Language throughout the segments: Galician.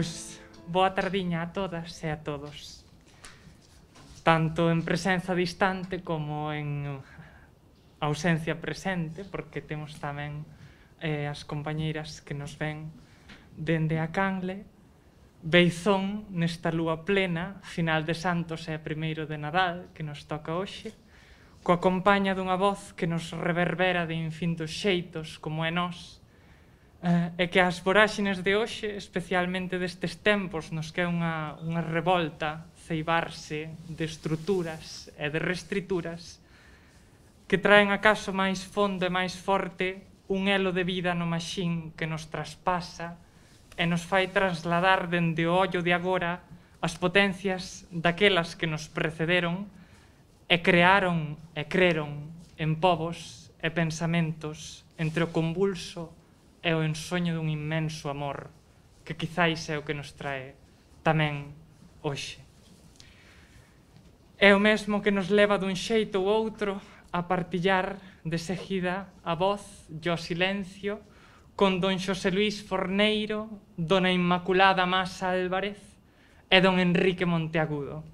Pois, boa tardiña a todas e a todos. Tanto en presenza distante como en ausencia presente, porque temos tamén as compañeiras que nos ven dende a Canle. Beizón nesta lúa plena, final de Santos e 1º de Nadal, que nos toca hoxe, coa compaña dunha voz que nos reverbera de infintos xeitos como é nós, e que as voráxines de hoxe, especialmente destes tempos nos que é unha revolta ceibarse de estruturas e de restrituras, que traen acaso máis fondo e máis forte un elo de vida no maxín que nos traspasa e nos fai trasladar dende o ollo de agora as potencias daquelas que nos precederon e crearon e creron en povos e pensamentos entre o convulso e o ensoño dun inmenso amor que quizáis é o que nos trae tamén hoxe. É o mesmo que nos leva dun xeito ou outro a partillar de seguida a voz e o silencio con don Xosé Luís Forneiro, dona Inmaculada Masa Álvarez e don Enrique Monteagudo,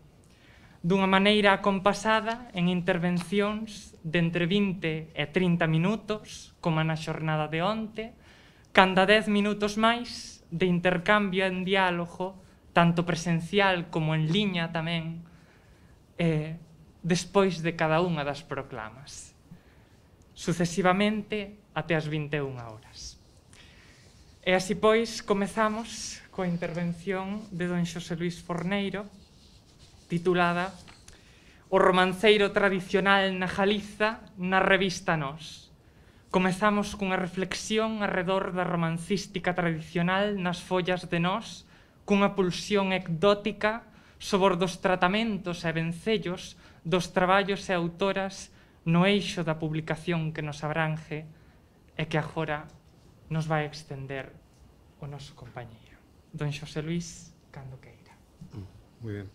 dunha maneira acompasada en intervencións de entre 20 e 30 minutos, como na xornada de onte, canda 10 minutos máis de intercambio en diálogo, tanto presencial como en liña tamén, despois de cada unha das proclamas, sucesivamente até as 21 horas. E así pois comezamos coa intervención de don Xosé Luís Forneiro, titulada O romanceiro tradicional na Galiza na revista Nós. Comezamos cunha reflexión arredor da romancística tradicional nas follas de Nós, cunha pulsión ecdótica sobre os tratamentos e vencellos dos traballos e autoras no eixo da publicación que nos abrange e que agora nos vai extender o noso compañeiro. Don Xosé Luís, cando queira. Moi ben.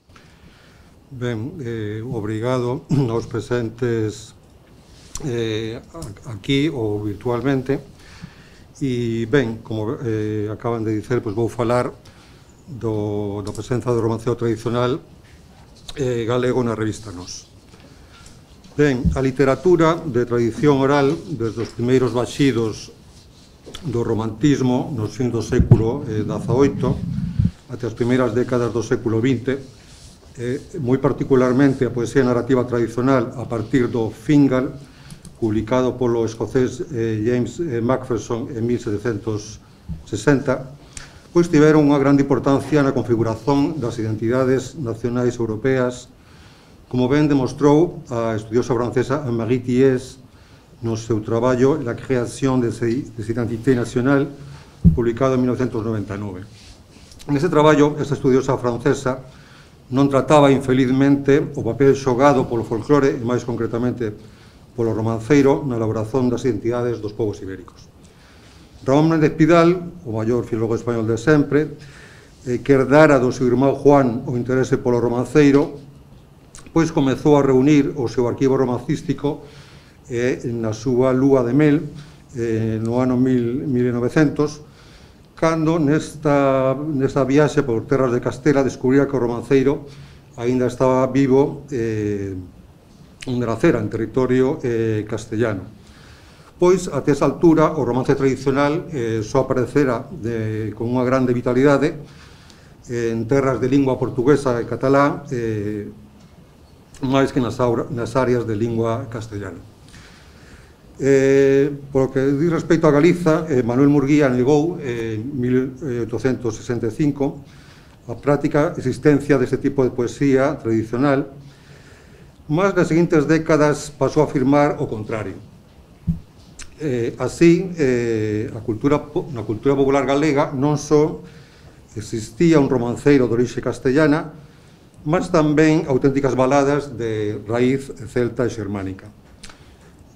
Ben, obrigado aos presentes aquí ou virtualmente. E ben, como acaban de dicer, vou falar da presenza do romanceo tradicional galego na revista Nós. Ben, a literatura de tradición oral, desde os primeiros baxidos do romantismo nos fins do século XVIII até as primeiras décadas do século XX, moi particularmente a poesía narrativa tradicional a partir do Fingal, publicado polo escocés James Macpherson en 1760, pois tiveron unha grande importancia na configuración das identidades nacionais europeas, como ben demostrou a estudiosa francesa Anne-Marie Thiers no seu traballo La création des identités nationales, publicado en 1999. Nese traballo, esta estudiosa francesa non trataba, infelizmente, o papel xogado polo folclore, e máis concretamente polo romanceiro, na elaboración das identidades dos povos ibéricos. Ramón Méndez Pidal, o maior filólogo español de sempre, que herdara do seu irmão Juan o interese polo romanceiro, pois comezou a reunir o seu arquivo romancístico na súa lúa de mel no ano 1900, cando nesta viaxe por terras de Castela descubría que o romanceiro aínda estaba vivo onde nacera, en territorio castellano. Pois, até esa altura, o romance tradicional só aparecera con unha grande vitalidade en terras de lingua portuguesa e catalá, máis que nas áreas de lingua castellana. Por lo que di respecto a Galiza, Manuel Murguía negou en 1865 a práctica existencia deste tipo de poesía tradicional, mas nas seguintes décadas pasou a afirmar o contrario. Así, na cultura popular galega non só existía un romanceiro de orixe castellana, mas tamén auténticas baladas de raíz celta e xermánica.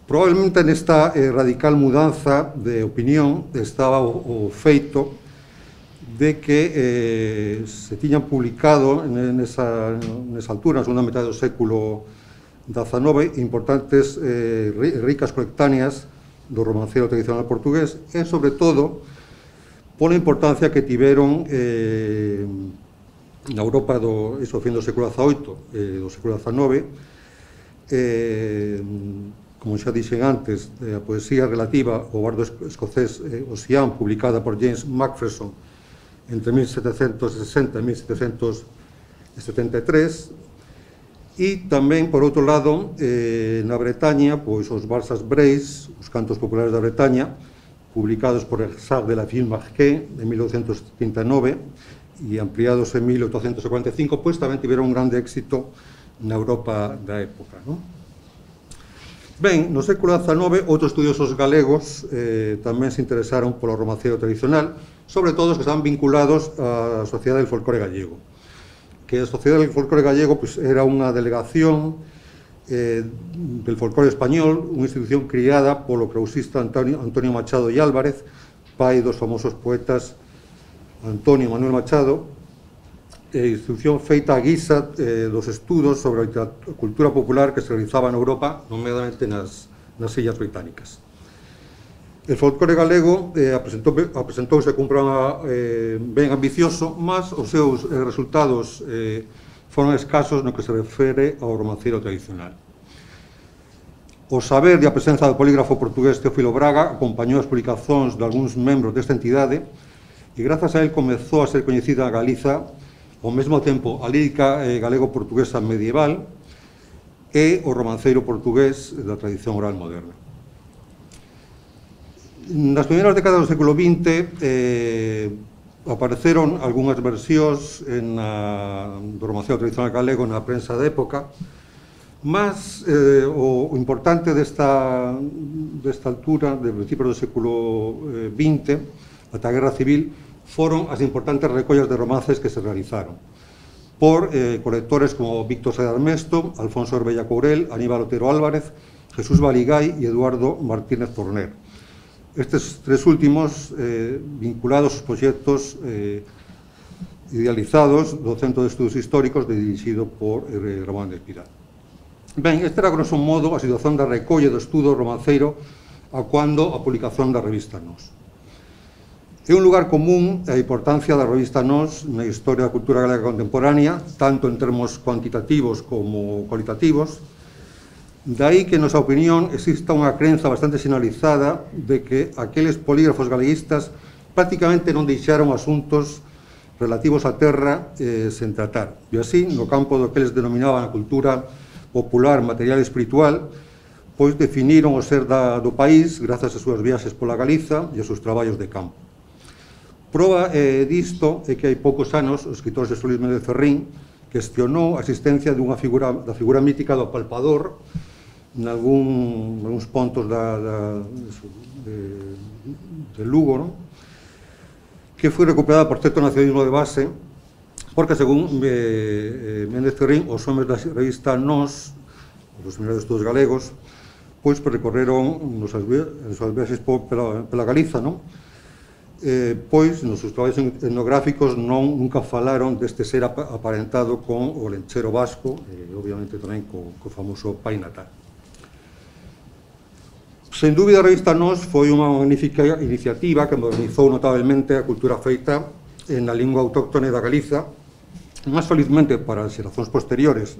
Probablemente nesta radical mudanza de opinión estaba o feito de que se tiñan publicado nesa altura, na segunda metade do século XIX, importantes ricas colectáneas do romancero tradicional portugués e, sobre todo, pola importancia que tiveron na Europa do fin do século XVIII, do século XIX, como xa dixen antes, a poesía relativa ao bardo escocés Ossian, publicada por James Macpherson entre 1760 e 1773, e tamén, por outro lado, na Bretaña, pois os Barsas Breis, os cantos populares da Bretaña, publicados por Exarch de la Ville Marquée en 1839 e ampliados en 1845, pois tamén tiveron un grande éxito na Europa da época, non? Ben, no século XIX, outros estudiosos galegos tamén se interesaron polo romancero tradicional, sobre todo os que estaban vinculados á Sociedade del Folclore Gallego, que a Sociedade del Folclore Gallego pues, era unha delegación del folclore español, unha institución criada polo crousista Antonio Machado e Álvarez, pai dos famosos poetas Antonio e Manuel Machado, institución feita a guisa dos estudos sobre a cultura popular que se realizaba na Europa, nomeadamente nas Illas Británicas. El folclore galego apresentouse como un programa ben ambicioso, mas os seus resultados foron escasos no que se refere ao romancero tradicional. O saber e a presenza do polígrafo portugués Teófilo Braga acompañou as publicacións de algúns membros desta entidade e grazas a él comezou a ser coñecida a Galiza ao mesmo tempo a lírica galego-portuguesa medieval e o romanceiro portugués da tradición oral moderna. Nas primeiras décadas do século XX apareceron algunhas versións do romancero tradicional galego na prensa da época, mas o importante desta altura, de principios do século XX, ata a Guerra Civil, foron as importantes recollas de romances que se realizaron por colectores como Víctor Sedar Mesto, Alfonso Orbella Courel, Aníbal Otero Álvarez, Jesús Baligay e Eduardo Martínez Torner. Estes tres últimos vinculados aos proxectos idealizados do Centro de Estudos Históricos dirixido por Ramón de Espiral. Ben, este era, grosso modo, a situación da recolle do estudo romanceiro a cuando a publicación da revista Nós. É un lugar común a importancia da revista Nós na historia da cultura galega contemporánea, tanto en termos cuantitativos como cualitativos. Daí que, en nosa opinión, exista unha crenza bastante sinalizada de que aqueles polígrafos galeguistas prácticamente non deixaron asuntos relativos á terra sen tratar. E así, no campo do que eles denominaban a cultura popular, material e espiritual, pois definiron o ser do país grazas ás súas viaxes pola Galiza e aos seus traballos de campo. Proba disto é que hai poucos anos o escritor Xesús Luis Méndez Ferrín cuestionou a existencia da figura mítica do palpador nalgúns pontos de Lugo, non? Que foi recuperada por certo nacionalismo de base, porque, según Méndez Ferrín, os homes da revista Nós, os seminarios de estudos galegos, pois recorreron nos seus viaxes pela Galiza, non? Pois, nos seus traballos etnográficos nunca falaron deste ser aparentado con o lenchero vasco e, obviamente, tamén co famoso pai natal. Sen dúbida, a revista Nós foi unha magnífica iniciativa que modernizou notablemente a cultura feita na lingua autóctone da Galiza, mas felizmente para as xeracións posteriores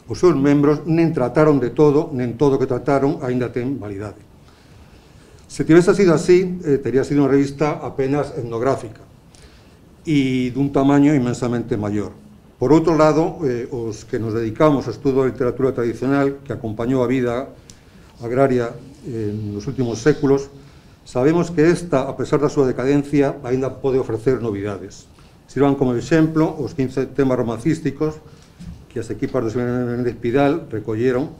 os seus membros nen trataron de todo, nen todo que trataron aínda ten validade. Se tivese sido así, teria sido unha revista apenas etnográfica e dun tamaño inmensamente maior. Por outro lado, os que nos dedicamos ao estudo da literatura tradicional que acompañou a vida agraria nos últimos séculos, sabemos que esta, a pesar da súa decadencia, aínda pode ofrecer novidades. Sirvan como exemplo os 15 temas romancísticos que as equipas do Seminario de Espiral recolleron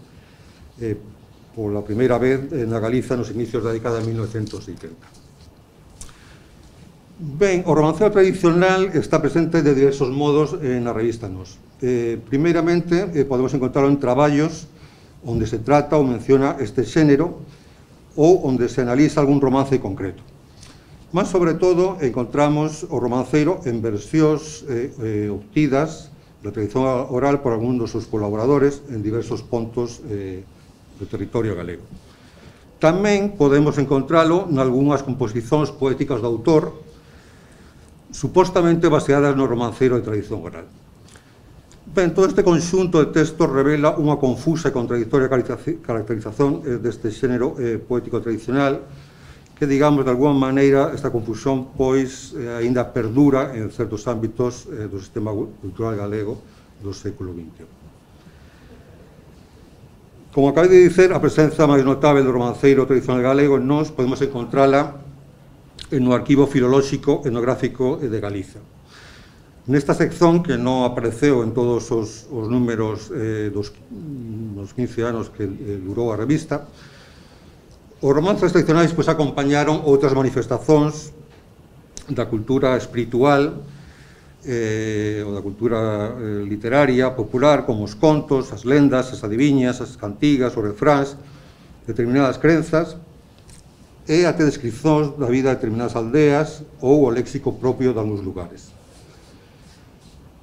pola primeira vez na Galiza nos inicios da década de 1970. Ben, o romancero tradicional está presente de diversos modos na revista Nós. Primeiramente, podemos encontrarlo en traballos onde se trata ou menciona este xénero ou onde se analiza algún romance concreto. Mas, sobre todo, encontramos o romanceiro en versións obtidas da tradición oral por algún dos seus colaboradores en diversos pontos do territorio galego. Tamén podemos encontralo nalgúnas composicións poéticas do autor supostamente baseadas no romanceiro de tradición oral. Ben, todo este conxunto de textos revela unha confusa e contradictoria caracterización deste xénero poético tradicional que, digamos, de alguma maneira, esta confusión, pois, aínda perdura en certos ámbitos do sistema cultural galego do século XXI. Como acabei de dicer, a presenza máis notável do romanceiro tradicional galego en nós podemos encontrala no Arquivo Filolóxico Etnográfico de Galiza. Nesta sección, que non apareceu en todos os números dos 15 anos que durou a revista, os romances tradicionais acompañaron outras manifestacións da cultura espiritual ou da cultura literaria, popular, como os contos, as lendas, as adiviñas, as cantigas, os refráns, determinadas crenzas, e até descripcións da vida de determinadas aldeas ou o léxico propio de algúns lugares.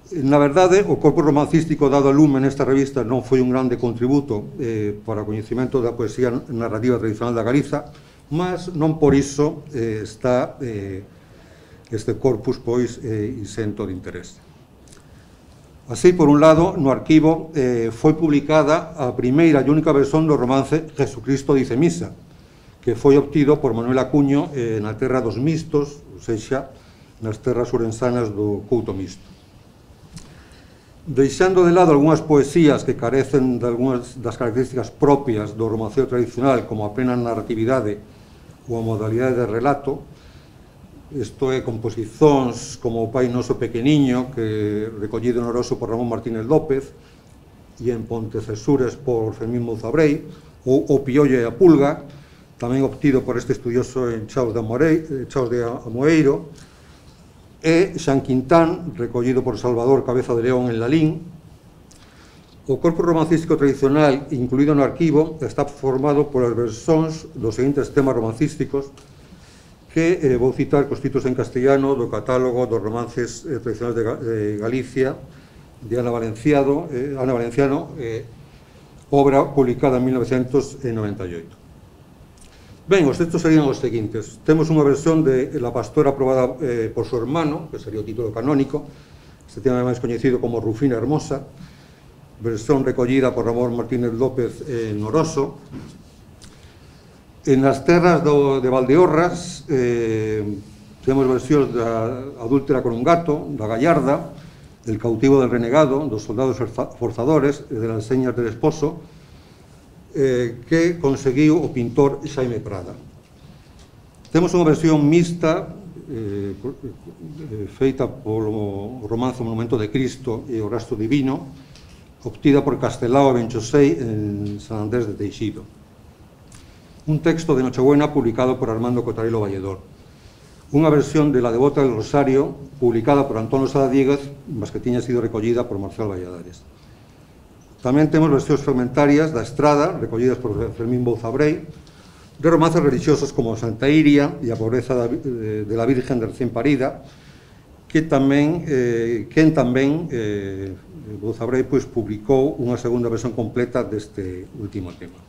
Na verdade, o corpo romancístico dado a lume nesta revista non foi un grande contributo para o coñecemento da poesía narrativa tradicional da Galiza, mas non por iso está este corpus, pois, isento de interés. Así, por un lado, no arquivo foi publicada a primeira e única versión do romance Jesucristo dice misa, que foi obtido por Manuel Acuño na terra dos mistos, ou seja, nas terras ourensanas do Couto Misto. Deixando de lado algunhas poesías que carecen de algunhas das características propias do romanceo tradicional, como a plena narratividade ou a modalidade de relato, isto é, composicións como O Pai Noso Pequeniño, que recollido en Oroso por Ramón Martínez López, e en Pontecesures por Fermín Mouzabrei, ou O Piollo e a Pulga, tamén obtido por este estudioso en Chaos de Amoeiro, e Xan Quintán, recollido por Salvador Cabeza de León en Lalín. O corpo romancístico tradicional incluído no arquivo está formado polas versións dos seguintes temas romancísticos que vou citar cos títulos en castellano do catálogo dos romances tradicionales de Galicia de Ana Valenciano, obra publicada en 1998. Ben, os textos serían os seguintes. Temos unha versión de La Pastora aprobada por su hermano, que sería o título canónico, este tema máis coñecido como Rufina Hermosa, versión recollida por Ramón Martínez López en Oroso. En as terras de Valdeorras temos versións da Adúltera con un gato, da Gallarda, del cautivo del renegado, dos soldados forzadores, de las señas del esposo, que conseguiu o pintor Xaime Prada. Temos unha versión mixta feita polo romance Monumento de Cristo e o Rastro Divino, obtida por Castelao e Benchosei en San Andrés de Teixido. Un texto de Nochebuena publicado por Armando Cotarelo Valledor. Unha versión de La Devota del Rosario publicada por Antonio Sada Díguez, mas que tiña sido recollida por Marcial Valladares. Tamén temos versións fragmentarias da Estrada, recollidas por Fermín Mouzabrei, de romances religiosos como Santa Iria e a pobreza de la Virgen de recién parida, que tamén Mouzabrei publicou unha segunda versión completa deste último tema.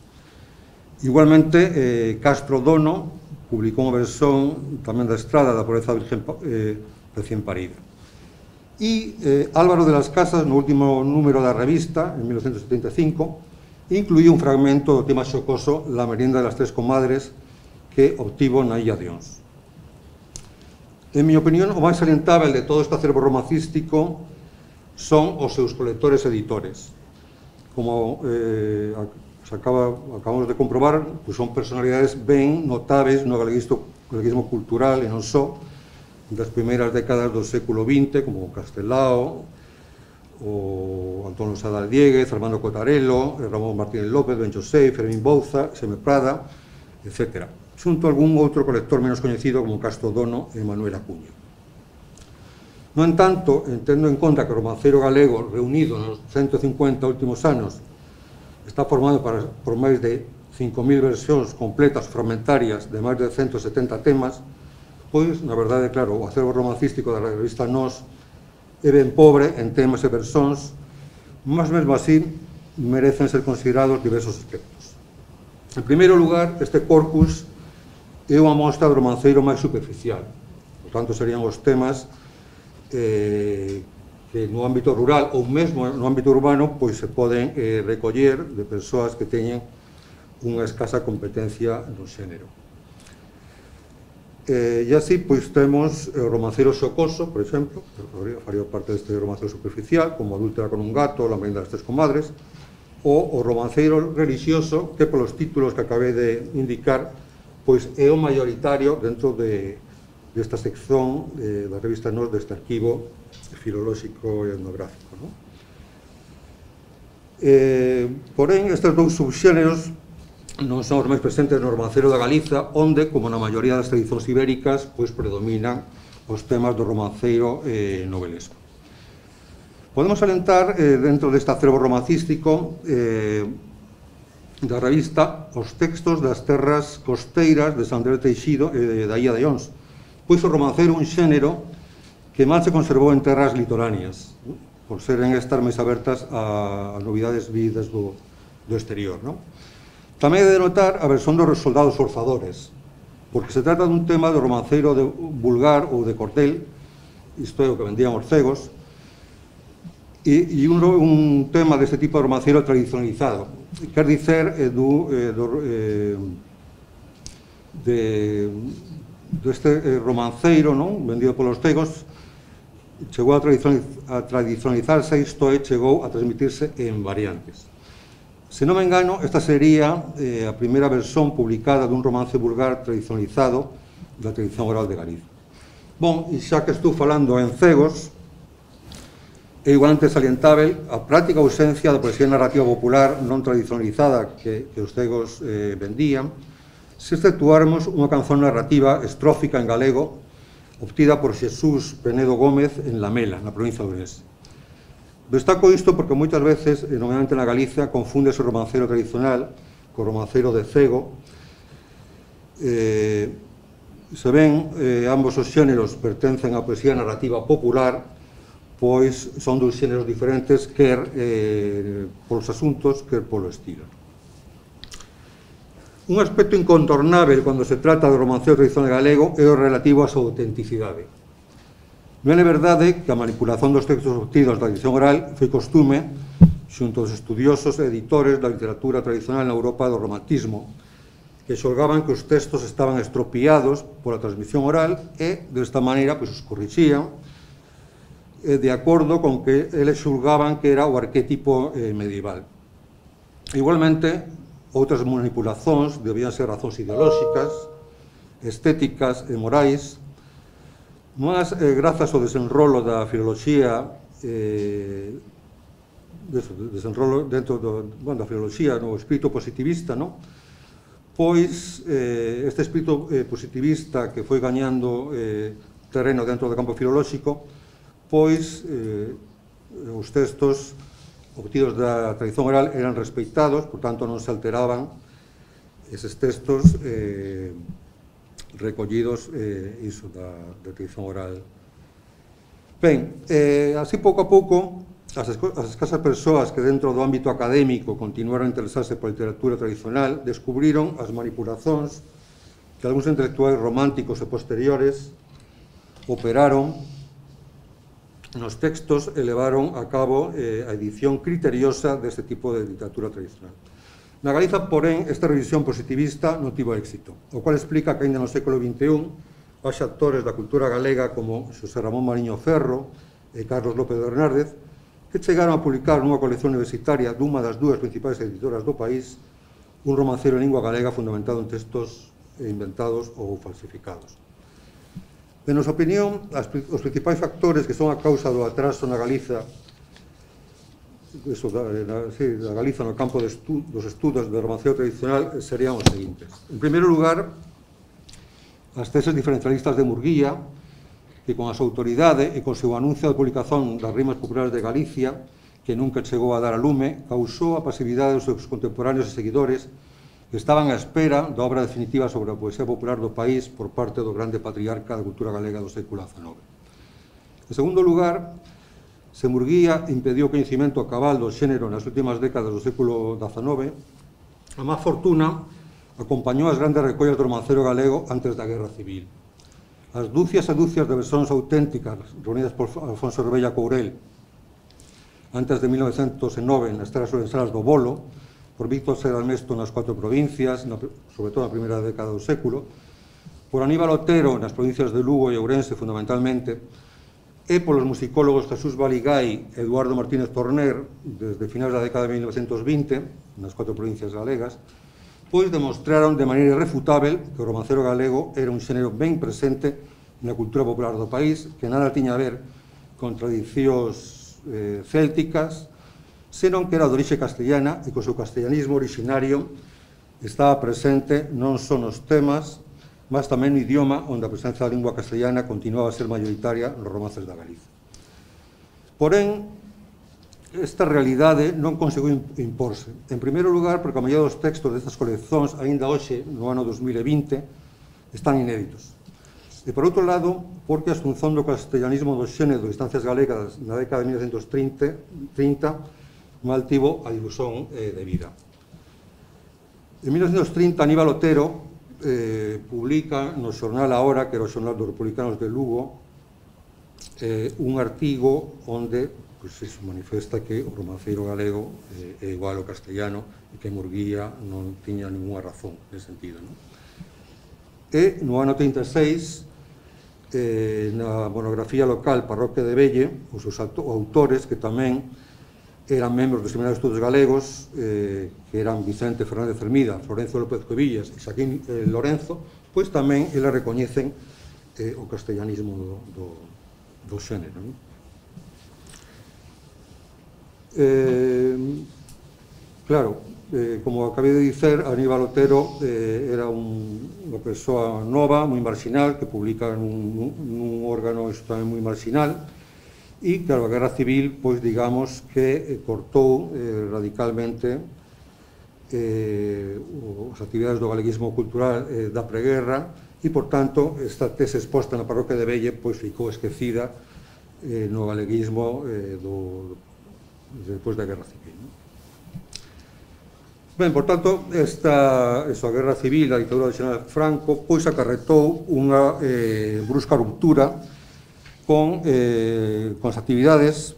Igualmente, Castro Dono publicou unha versión tamén da Estrada da pobreza da Virgen recién parida. E Álvaro de las Casas, no último número da revista, en 1975, incluía un fragmento do tema xocoso La merienda de las tres comadres, que obtivo na Illa de Ons. En mi opinión, o máis salientável de todo este acervo romancístico son os seus colectores editores. Como acabamos de comprobar, son personalidades ben notáveis no galeguismo cultural e non só, das primeiras décadas do século XX, como Castelao, o Antonio Sada Díguez, Armando Cotarelo, Ramón Martínez López, Benchosei, Fermín Bouza, Xaime Prada, etc. Xunto a algún outro colector menos coñecido como Castro Dono e Manuel Acuño. No entanto, tendo en conta que o romanceiro galego reunido nos 150 últimos anos está formado por máis de 5.000 versións completas fragmentarias de máis de 170 temas, pois, na verdade, claro, o acervo romancístico da revista Nós é ben pobre en temas e versións, mas mesmo así merecen ser considerados diversos aspectos. En primeiro lugar, este corpus é unha mostra do romanceiro máis superficial, por tanto, serían os temas que no ámbito rural ou mesmo no ámbito urbano pois se poden recoller de persoas que teñen unha escasa competencia no xénero. E así pois temos o romanceiro xocoso, por exemplo, que faría parte deste romanceiro superficial, como Adúltera con un gato, La merienda das tres comadres, ou o romanceiro religioso, que polos títulos que acabei de indicar pois é o mayoritario dentro desta sección da revista Nos deste arquivo filolóxico e etnográfico, non? Porén, estes dous subxéneros non son os máis presentes no romanceiro da Galiza, onde, como na maioría das tradicións ibéricas, pois predominan os temas do romanceiro novelesco. Podemos alentar, dentro deste acervo romancístico da revista, os textos das terras costeiras de Sant Andreu de Teixido e da Illa de Ons, pois o romanceiro un xénero que mal se conservou en terras litoráneas, por seren estas máis abertas a novidades vidas do exterior, non? Tamén é de notar a versión dos soldados forzadores, porque se trata dun tema do romanceiro vulgar ou de cordel, isto é o que vendían os cegos, e un tema deste tipo de romanceiro tradicionalizado, quer dicer deste romanceiro, non, vendido polos cegos, chegou a tradicionalizarse, isto é, chegou a transmitirse en variantes. Se non me engano, esta sería a primeira versión publicada dun romance vulgar tradicionalizado da tradición oral de Galicia. Bon, e xa que estou falando en cegos, é igualmente salientável a práctica ausencia da poesía narrativa popular non tradicionalizada que os cegos vendían, se exceptuáramos unha canción narrativa estrófica en galego obtida por Xesús Penedo Gómez en Lamela, na provincia de Ourense. Destaco isto porque moitas veces, nomeadamente na Galicia, confúndese o romanceiro tradicional co romanceiro de cego. Se ben, ambos os xéneros pertencen á poesía narrativa popular, pois son dous xéneros diferentes, quer polos asuntos, quer polo estilo. Un aspecto incontornável cando se trata do romanceiro tradicional galego é o relativo á súa autenticidade. Non é verdade que a manipulación dos textos obtidos da tradición oral foi costume xunto aos estudiosos e editores da literatura tradicional na Europa do romantismo, que xolgaban que os textos estaban estropiados pola transmisión oral e, desta maneira, pois os corrixían de acordo con que eles xulgaban que era o arquetipo medieval. Igualmente, outras manipulacións debían ser razóns ideolóxicas, estéticas e morais, mas grazas ao desenrolo da filoloxía, desenrolo dentro da filoloxía, no espírito positivista, non? Pois este espírito positivista que foi gañando terreno dentro do campo filolóxico, pois os textos obtidos da tradición oral eran respeitados, por tanto non se alteraban eses textos recollidos iso da tradición oral. Ben, así pouco a pouco as escasas persoas que dentro do ámbito académico continuaron a interesarse pola literatura tradicional descubriron as manipulacións que algúns intelectuais románticos e posteriores operaron nos textos e levaron a cabo a edición criteriosa deste tipo de literatura tradicional. Na Galiza, porén, esta revisión positivista non tivo éxito, o cual explica que ainda no século XXI os actores da cultura galega como Xosé Ramón Mariño Ferro e Carlos López de Hernández, que chegaron a publicar nunha colección universitaria dunha das dúas principais editoras do país un romanceiro en lingua galega fundamentado en textos inventados ou falsificados. En nosa opinión, os principais factores que son a causa do atraso na Galiza da Galiza no campo dos estudos do romanceiro tradicional serían os seguintes. En primeiro lugar, as teses diferencialistas de Murguía, que con a súa autoridade e con o seu anuncio de publicación das rimas populares de Galicia, que nunca chegou a dar a lume, causou a pasividade dos seus contemporáneos e seguidores que estaban á espera da obra definitiva sobre a poesía popular do país por parte do grande patriarca da cultura galega do século XIX. En segundo lugar, se Murguía impediu o coñecimento a cabal do xénero nas últimas décadas do século XIX, a má fortuna acompañou as grandes recollas do romanceiro galego antes da Guerra Civil. as dúcias e dúcias de versións auténticas reunidas por Alfonso Rebella Courel antes de 1909 nas terras orensanas do Bolo, por Víctor Seralmesto nas 4 provincias, sobre todo na primeira década do século, por Aníbal Otero nas provincias de Lugo e Ourense, fundamentalmente, e polos musicólogos Jesús Baligay e Eduardo Martínez Torner, desde finais da década de 1920, nas 4 provincias galegas, pois demostraron de maneira irrefutável que o romancero galego era un xénero ben presente na cultura popular do país, que nada tiña a ver con tradicións célticas, senón que era de orixe castellana e co seu castellanismo originario estaba presente non só nos temas, mas tamén no idioma, onde a presenza da lingua castellana continuaba a ser mayoritaria nos romances da Galiza. Porén, esta realidade non conseguiu imporse. En primeiro lugar, porque a maioría dos textos destas coleccións, aínda hoxe, no ano 2020, están inéditos. E, por outro lado, porque a asunción do castellanismo do xénero de instancias galegas na década de 1930 mal tivo a difusión debida. En 1930, Aníbal Otero publica no xornal A Hora, que era o xornal dos republicanos de Lugo, un artigo onde se manifesta que o romanceiro galego é igual ao castellano e que Murguía non tiña ninguna razón nesse sentido. E no ano 36, na monografía local Parroquia de Velle, os seus autores, que tamén eran membros do Seminario de Estudos Galegos, que eran Vicente Fernández Hermida, Florencio López Cuevillas e Xaquín Lorenzo, pois tamén eles recoñecen o castellanismo do xénero. Claro, como acabei de dizer, Aníbal Otero era unha persoa nova, moi marginal, que publica nun órgano tamén moi marginal, e, claro, a Guerra Civil, pois, digamos, que cortou radicalmente as actividades do galeguismo cultural da preguerra e, por tanto, esta tese exposta na Parroquia de Velle, pois, ficou esquecida no galeguismo despois da Guerra Civil. Ben, por tanto, a Guerra Civil, a ditadura do Xeneral Franco, pois acarretou unha brusca ruptura con as actividades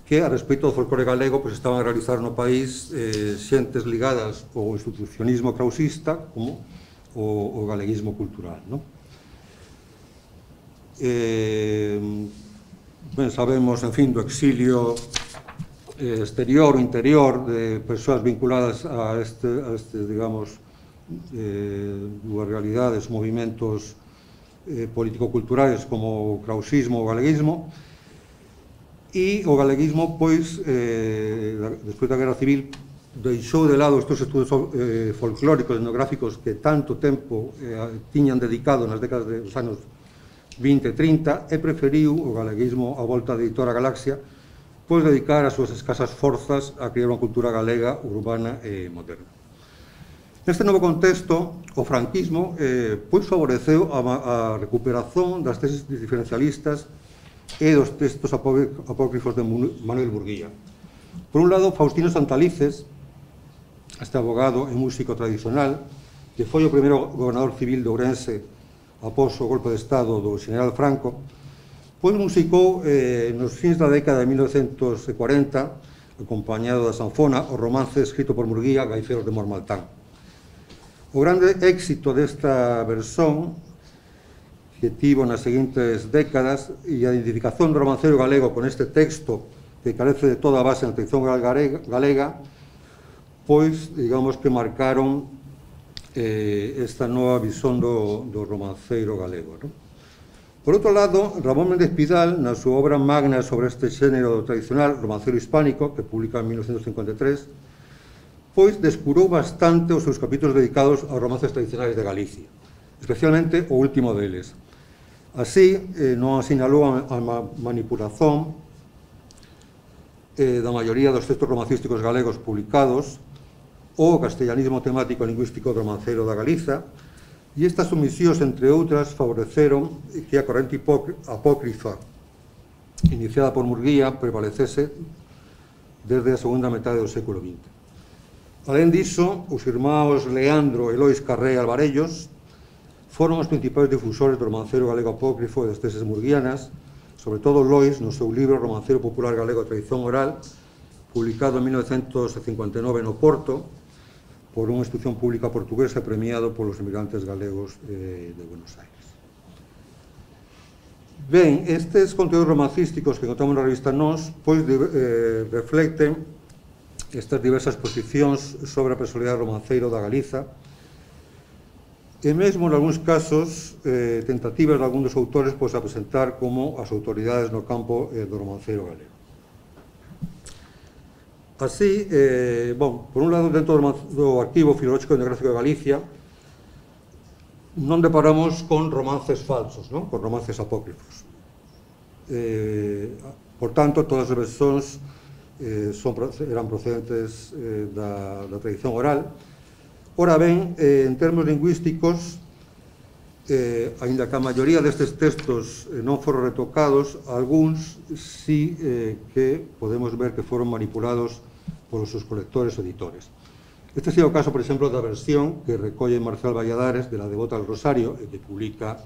que, a respecto do folclore galego, pois estaban a realizar no país xentes ligadas ao institucionismo krausista como o galeguismo cultural. Ben, sabemos, en fin, do exilio exterior ou interior de persoas vinculadas a este, digamos, dúas realidades, movimentos político-culturais como o krausismo ou o galeguismo, e o galeguismo, pois, despois da Guerra Civil, deixou de lado estes estudos folclóricos, etnográficos que tanto tempo tiñan dedicado nas décadas dos anos 20 e 30 e preferiu o galeguismo a volta da editora Galaxia, pois dedicar as súas escasas forzas a crear unha cultura galega, urbana e moderna. Neste novo contexto, o franquismo pois favoreceu a recuperación das teses diferencialistas e dos textos apócrifos de Manuel Murguía. Por un lado, Faustino Santalices, este abogado e músico tradicional, que foi o primeiro gobernador civil de Ourense após o golpe de Estado do Xeneral Franco, pois musicou nos fins da década de 1940, acompañado da sanfona, o romance escrito por Murguía, Gaiferos de Mormaltán. O grande éxito desta versión que tivo nas seguintes décadas e a identificación do romancero galego con este texto que carece de toda a base na tradición galega, pois, digamos que marcaron esta nova visión do romanceiro galego. Por outro lado, Ramón Méndez Pidal, na súa obra magna sobre este xénero tradicional, Romancero Hispánico, que publica en 1953, pois descurou bastante os seus capítulos dedicados aos romances tradicionais de Galicia, especialmente o último deles. Así, non asinalou a manipulación da maioría dos textos romancísticos galegos publicados, o castellanismo temático e lingüístico do romancero da Galiza, e estas omisións, entre outras, favoreceron que a corrente apócrifa iniciada por Murguía prevalecese desde a segunda metade do século XX. Alén diso, os irmáns Leandro e Lois Carré Alvarellos foron os principais difusores do romanceiro galego apócrifo e das teses murguianas, sobre todo Lois, no seu libro Romanceiro Popular Galego a Tradición Oral, publicado en 1959 no Porto, por unha institución pública portuguesa premiado polos emigrantes galegos de Buenos Aires. Ben, estes conteúdos romancísticos que encontramos na revista Nós, pois reflecten estas diversas posicións sobre a personalidade romanceiro da Galiza, e mesmo, en algúns casos, tentativas de algún dos autores pois, a presentar como as autoridades no campo do romanceiro galego. Así, por un lado, dentro do Arquivo Filolóxico e Etnográfico de Galicia, non deparamos con romances falsos, non? Con romances apócrifos. Por tanto, todas as versións eran procedentes da tradición oral. Ora ben, en termos lingüísticos, aínda que a maioría destes textos non foron retocados, algúns sí que podemos ver que foron manipulados polos seus colectores ou editores. Este é o caso, por exemplo, da versión que recolle Marcial Valladares de la Devota al Rosario e que publica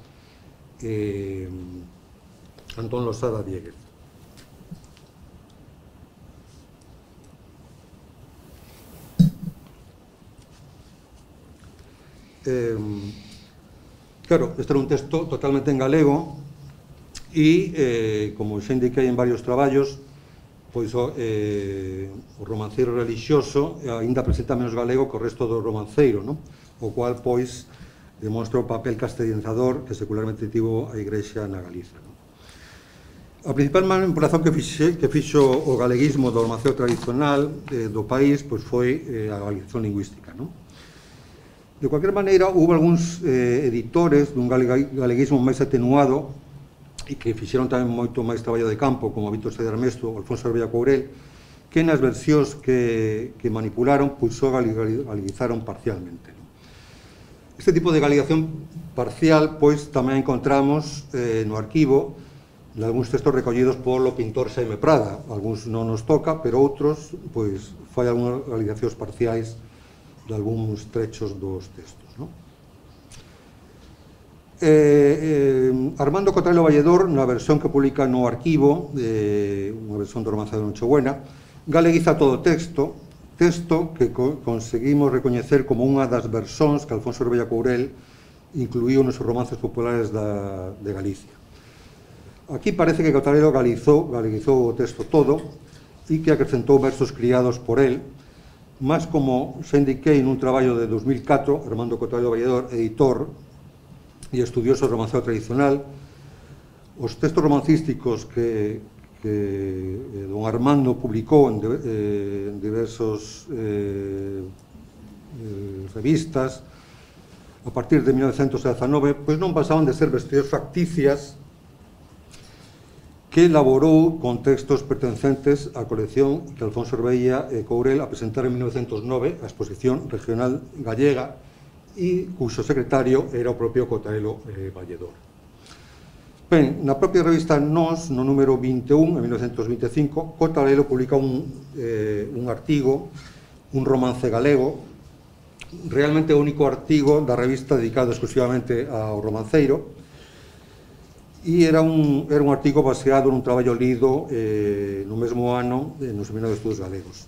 Antón Losada Dieguez. Claro, este era un texto totalmente en galego e, como xa indiquei en varios traballos, pois o romanceiro relixioso aínda presenta menos galego que o resto do romanceiro, non? O cual, pois, demostra o papel castellanizador que secularmente tivo a Igrexa na Galiza, non? A principal manipulación que fixo o galeguismo do romanceiro tradicional do país pois foi a galicización lingüística, non? De cualquier maneira, houve algúns editores dun galeguismo máis atenuado e que fixeron tamén moito máis traballo de campo, como Víctor Said Armesto ou Alfonso Arbella Courel, que nas versións que manipularon, pois só galeguizaron parcialmente. Este tipo de galegación parcial, pois, tamén encontramos no arquivo de algúns textos recollidos polo pintor Xaime Prada. Algúns non nos toca, pero outros, pois, fai algúnas galegacións parciais de algúns trechos dos textos, non? Armando Cotarelo Valledor, na versión que publica no arquivo, unha versión do romance de Nochebuena, galeguiza todo o texto que conseguimos recoñecer como unha das versóns que Alfonso Arbella Courel incluíu nos romances populares de Galicia. Aquí parece que Cotarelo galeguizou o texto todo e que acrescentou versos criados por el, mas como xa indiquei nun traballo de 2004, Armando Cotarelo Valledor, editor e estudioso do romanceo tradicional, os textos romancísticos que don Armando publicou en diversas revistas a partir de 1919, pois non pasaban de ser versións facticias que elaborou con textos pertencentes á colección que Alfonso Arbella Courel a presentar en 1909 a Exposición Regional Gallega e cuxo secretario era o propio Cotarelo Valledor. Ben, na propia revista Nós, no número 21, en 1925, Cotarelo publica un artigo, un romance galego, realmente o único artigo da revista dedicado exclusivamente ao romanceiro, e era un artigo baseado nun traballo lido no mesmo ano no Seminario de Estudos Galegos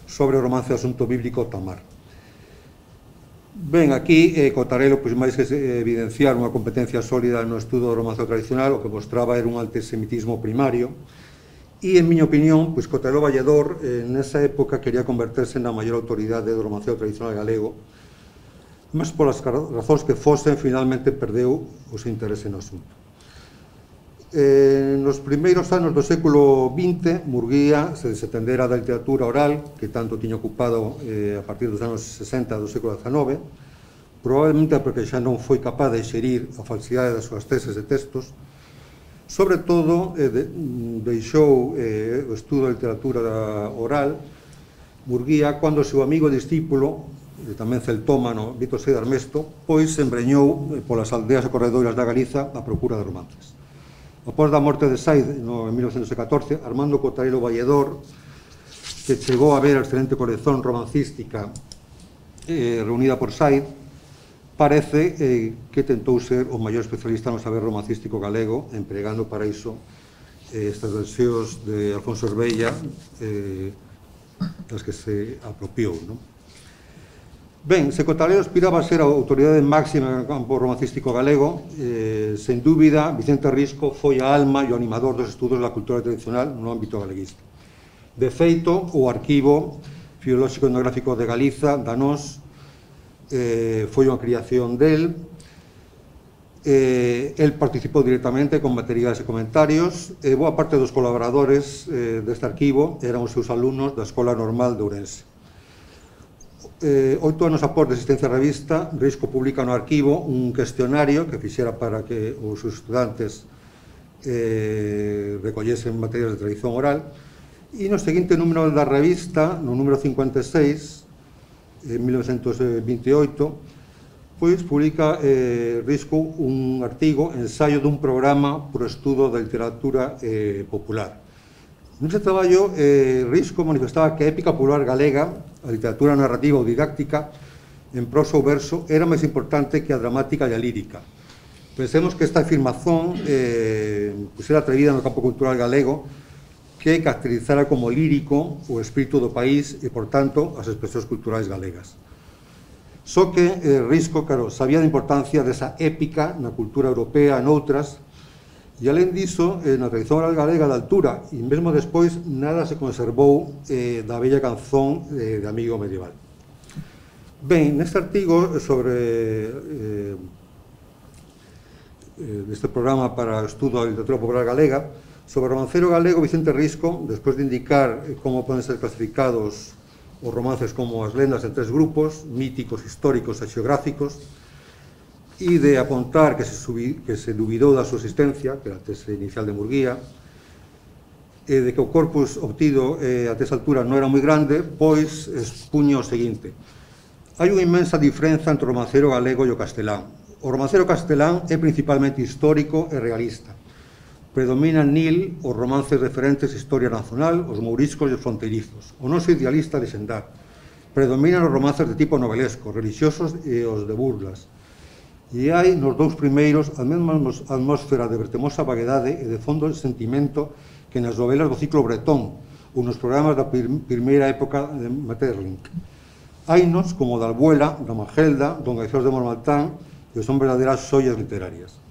sobre o romance asunto bíblico Tamar. Ben, aquí Cotarelo, pois máis que evidenciar unha competencia sólida no estudo do romance tradicional, o que mostraba era un antisemitismo primario, e, en miña opinión, pois Cotarelo Valledor nesa época quería converterse na maior autoridade do romanceo tradicional galego, mas polas razóns que fosen, finalmente perdeu o seu interese no asunto. Nos primeiros anos do século XX, Murguía se desatendera da literatura oral, que tanto tiña ocupado a partir dos anos 60 do século XIX, probablemente porque xa non foi capaz de xerir a falsidade das súas teses e textos. Sobre todo, deixou o estudo da literatura oral Murguía cando o seu amigo e discípulo, tamén celtómano, Víctor Said Armesto, pois se embreñou polas aldeas e corredoiras da Galiza a procura de romances. Após da morte de Said en 1914, Armando Cotarelo Valledor, que chegou a ver a excelente colección romancística reunida por Said, parece que tentou ser o maior especialista no saber romancístico galego, empregando para iso estas versións de Alfonso Herbella, das que se apropiou, non? Ben, se Cotalero aspiraba a ser a autoridade máxima no campo romancístico galego, sen dúbida, Vicente Risco foi a alma e o animador dos estudos da cultura tradicional no ámbito galeguista. De feito, o Arquivo Filolóxico Etnográfico de Galiza, da NOS, foi unha creación del. El participou directamente con materiais e comentarios, e boa parte dos colaboradores deste arquivo eran os seus alumnos da Escola Normal de Ourense. 8 anos após de existencia da revista, Risco publica no arquivo un cuestionario que fixera para que os estudantes recollesen materias de tradición oral, e no seguinte número da revista, no número 56, en 1928, pois publica Risco un artigo, ensaio dun programa pro estudo da literatura popular. Nese traballo, Risco manifestaba que a épica popular galega, a literatura narrativa ou didáctica, en prosa ou verso, era máis importante que a dramática e a lírica. Pensemos que esta afirmación era atrevida no campo cultural galego, que caracterizara como lírico o espírito do país e, por tanto, as expresións culturais galegas. Só que Risco, claro, sabía da importancia desa épica na cultura europea e noutras, e, alén diso, na tradición oral galega da altura, e mesmo despois, nada se conservou da bella canzón de Amigo Medieval. Ben, neste artigo sobre este programa para o estudo da literatura popular galega, sobre o romancero galego Vicente Risco, despois de indicar como poden ser clasificados os romances como as lendas en 3 grupos, míticos, históricos e xeográficos, e de apontar que se dubidou da súa existencia, que era a tese inicial de Murguía, e de que o corpus obtido a esa altura non era moi grande, pois expuña o seguinte: hai unha inmensa diferenza entre o romancero galego e o castelán. O romancero castelán é principalmente histórico e realista. Predominan nil os romances referentes a historia nacional, os mouriscos e os fronteirizos. O noso idealista de xendar. Predominan os romances de tipo novelesco, religiosos e os de burlas. E hai nos 2 primeiros a mesma atmósfera de vertemosa vaguedade e de fondo de sentimento que nas novelas do ciclo bretón ou nos programas da primeira época de Maeterlinck. Hainos como da Albuela, da Magelda, Don Gaizós de Mormaltán, que son verdadeiras xoias literarias.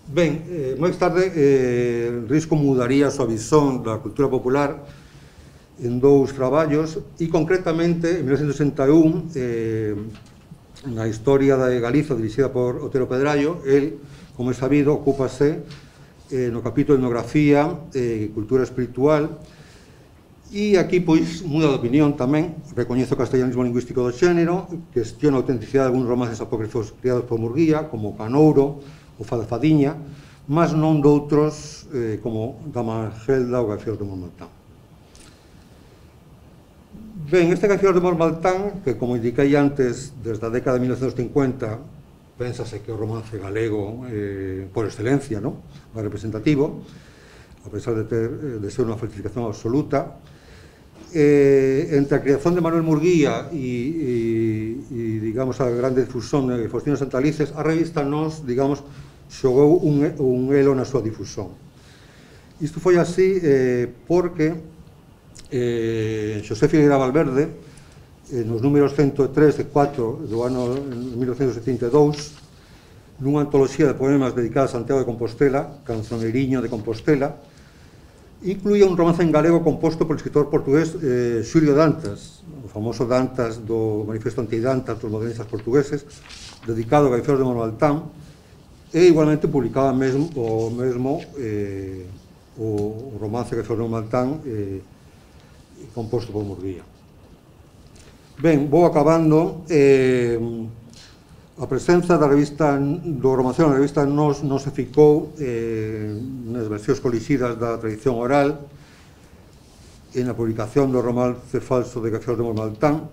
Ben, máis tarde, Risco mudaría a súa visón da cultura popular en 2 traballos, e concretamente, en 1961, na historia de Galiza dirixida por Otero Pedrallo, el, como é sabido, ocúpase no capítulo de etnografía e cultura espiritual, e aquí, pois, muda de opinión tamén, recoñece o castellanismo lingüístico do xénero, cuestiona a autenticidade de algúns romances apócrifos criados por Murguía, como Canouro ou Fadafadiña, mas non doutros como da Magelda ou Gaizós de Mormaltán. Ben, este Gaizós de Mormaltán, que, como indiquei antes, desde a década de 1950, pénsase que o romance galego, por excelencia, non? O representativo, a pesar de ser unha falsificación absoluta. Entre a creación de Manuel Murguía e digamos, a grande difusión de Faustino Santalices, a revista Nós, digamos, xogou un elo na súa difusión. Isto foi así porque Xosé Figueira Valverde, nos números 103 e 4 do ano 1972, nunha antoloxía de poemas dedicada a Santiago de Compostela, Canzoneiriño de Compostela, incluía un romance en galego composto polo escritor portugués Xulio Dantas, o famoso Dantas do Manifesto Antidantas dos modernistas portugueses, dedicado a Gaizós de Mormaltán, e igualmente publicaba o romance Gaizós de Mormaltán composto por Murguía. Ben, vou acabando. A presenza da revista do romancero na revista non se ficou nas versións colixidas da tradición oral, en a publicación do romance falso de Gaizós de Mormaltán.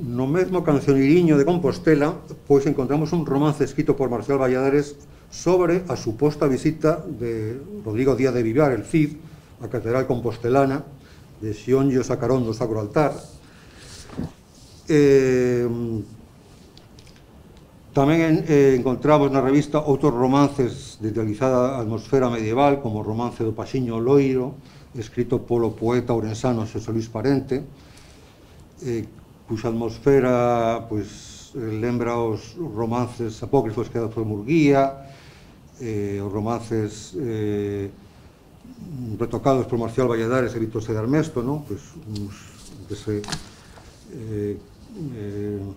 No mesmo Canzoneiriño de Compostela, pois encontramos un romance escrito por Marcial Valladares sobre a suposta visita de Rodrigo Díaz de Vivar, el Cid, a catedral compostelana, de Xionllo Sacarón do Sacro Altar. Tamén encontramos na revista outros romances de idealizada atmosfera medieval, como o romance do Paxiño Loiro, escrito polo poeta ourensano Xosé Luis Parente, cuxa atmosfera lembra os romances apócrifos que por Murguía, os romances retocados por Marcial Valladares e Víctor Sedarmesto, que se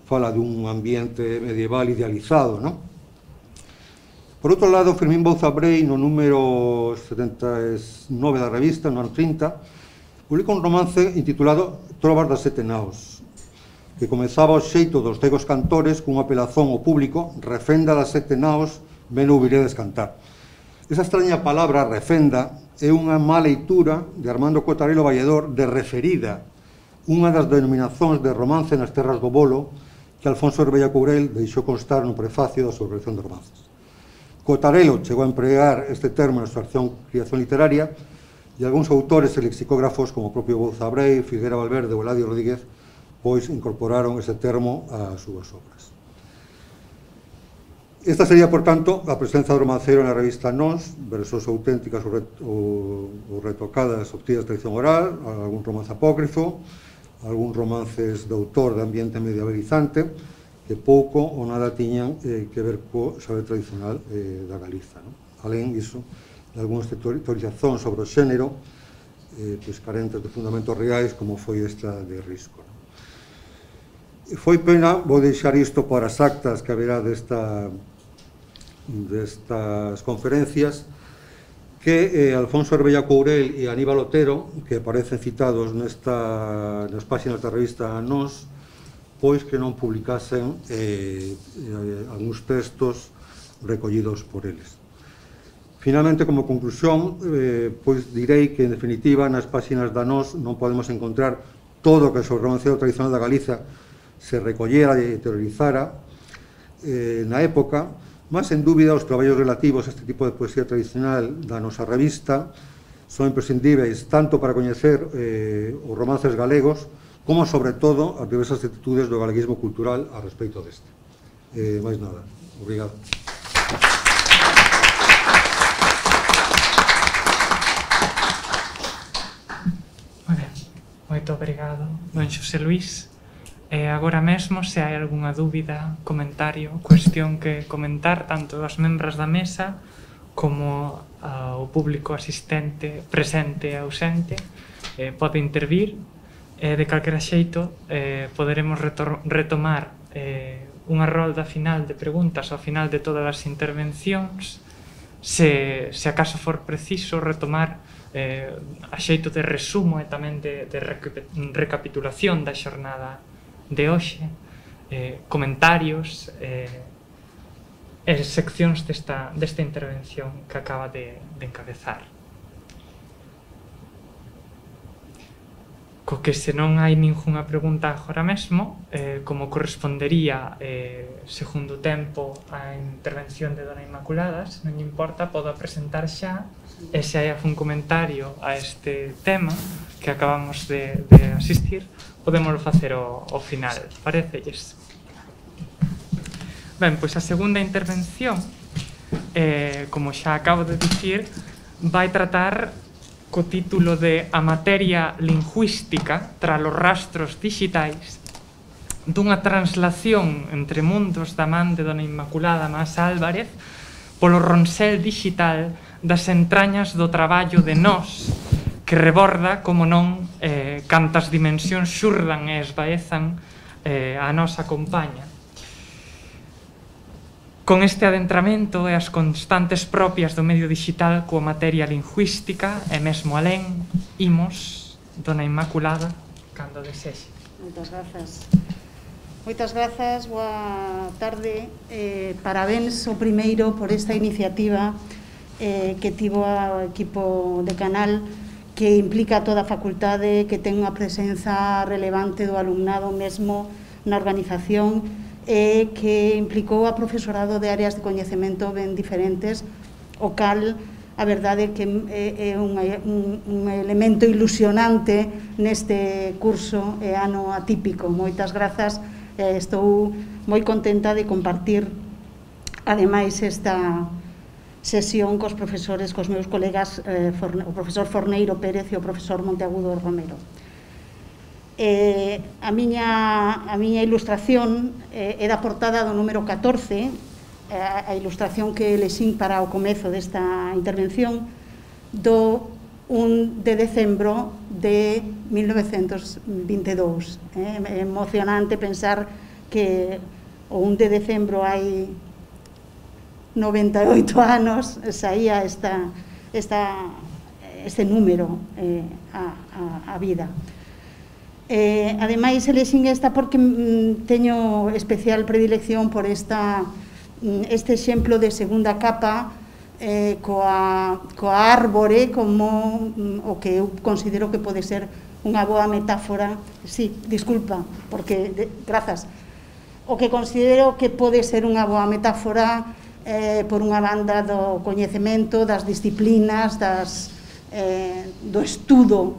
fala dun ambiente medieval idealizado. Por outro lado, Fermín Bouza Brei, no número 79 da revista, no ano 30, publica un romance intitulado Trovas das Sete Naos, que comezaba o xeito dos cegos cantores cunha apelación ao público: refenda das sete naos, ben ouviredes cantar. Esa extraña palabra, refenda, é unha má leitura de Armando Cotarelo Valledor de referida, unha das denominacións de romance nas terras do Bolo que Alfonso Herbella Courel deixou constar no prefacio da súa colección de romances. Cotarelo chegou a empregar este termo na súa creación literaria e algúns autores e lexicógrafos, como o propio Bouza Brei, Figuera Valverde ou Eladio Rodríguez, pois incorporaron ese termo ás súas obras. Esta sería, por tanto, a presenza do romancero na revista Nós, versións auténticas ou retocadas obtidas de tradición oral, algún romance apócrifo, algúns romances de autor de ambiente medievalizante que pouco ou nada tiñan que ver co saber tradicional da Galiza. Alén disso, de algúns teorizacións sobre o xénero carentes de fundamentos reais, como foi esta de Risco. Foi pena, vou deixar isto para as actas que haberá destas conferencias, que Alfonso Herbella Courel e Aníbal Otero, que aparecen citados nas páxinas da revista Nós, pois que non publicasen algúns textos recollidos por eles. Finalmente, como conclusión, pois direi que, en definitiva, nas páxinas da Nós non podemos encontrar todo o que sobre o romancero tradicional da Galiza se recollera e teorizara na época, mas, en dúbida, os traballos relativos a este tipo de poesía tradicional da nosa revista son imprescindíveis tanto para coñecer os romances galegos como, sobre todo, as diversas actitudes do galeguismo cultural a respecto deste. Mais nada. Obrigado. Moi ben. Moito obrigado, don Xosé Luís. Agora mesmo, se hai algunha dúbida, comentario, cuestión que comentar, tanto das membros da mesa como ao público asistente, presente e ausente, pode intervir. De calquera xeito, poderemos retomar unha rolda final de preguntas ao final de todas as intervencións, se acaso for preciso retomar a xeito de resumo e tamén de recapitulación da xornada de hoxe, comentarios e seccións desta intervención que acaba de encabezar. Co que, se non hai ningunha pregunta agora mesmo, como correspondería segundo tempo a intervención de Dona Inmaculada, se non importa, podo presentar xa, e se hai algún comentario a este tema que acabamos de asistir, podemos facer ao final, parecelles? Ben, pois a segunda intervención, como xa acabo de dicir, vai tratar co título de A materia lingüística tras os rastros digitais, dunha translación entre mundos da man de Dona Inmaculada Mas Álvarez polo ronsel digital das entrañas do traballo de Nós, que reborda, como non, cantas dimensións xurdan e esvaezan a nosa compaña. Con este adentramento e as constantes propias do medio digital coa materia lingüística e mesmo alén, imos, Dona Inmaculada, cando desexe. Moitas grazas. Moitas grazas, boa tarde. Parabéns o primeiro por esta iniciativa que tivo o equipo de Canal, que implica toda a facultade, que ten unha presenza relevante do alumnado mesmo na organización, que implicou a profesorado de áreas de coñecemento ben diferentes, o cal a verdade que é un elemento ilusionante neste curso e ano atípico. Moitas grazas, estou moi contenta de compartir ademais, esta sesión cos profesores, cos meus colegas, o profesor Forneiro Pérez e o profesor Monteagudo Romero. A miña ilustración é da portada do número 14, a ilustración que elexín para o comezo desta intervención, do 1 de decembro de 1922. É emocionante pensar que o 1 de decembro hai 98 anos saía este número a vida. Ademais, elexín esta porque teño especial predilección por este exemplo de segunda capa coa árbore como o que eu considero que pode ser unha boa metáfora. Sí, disculpa, porque, grazas, o que considero que pode ser unha boa metáfora por unha banda do coñecemento, das disciplinas, do estudo,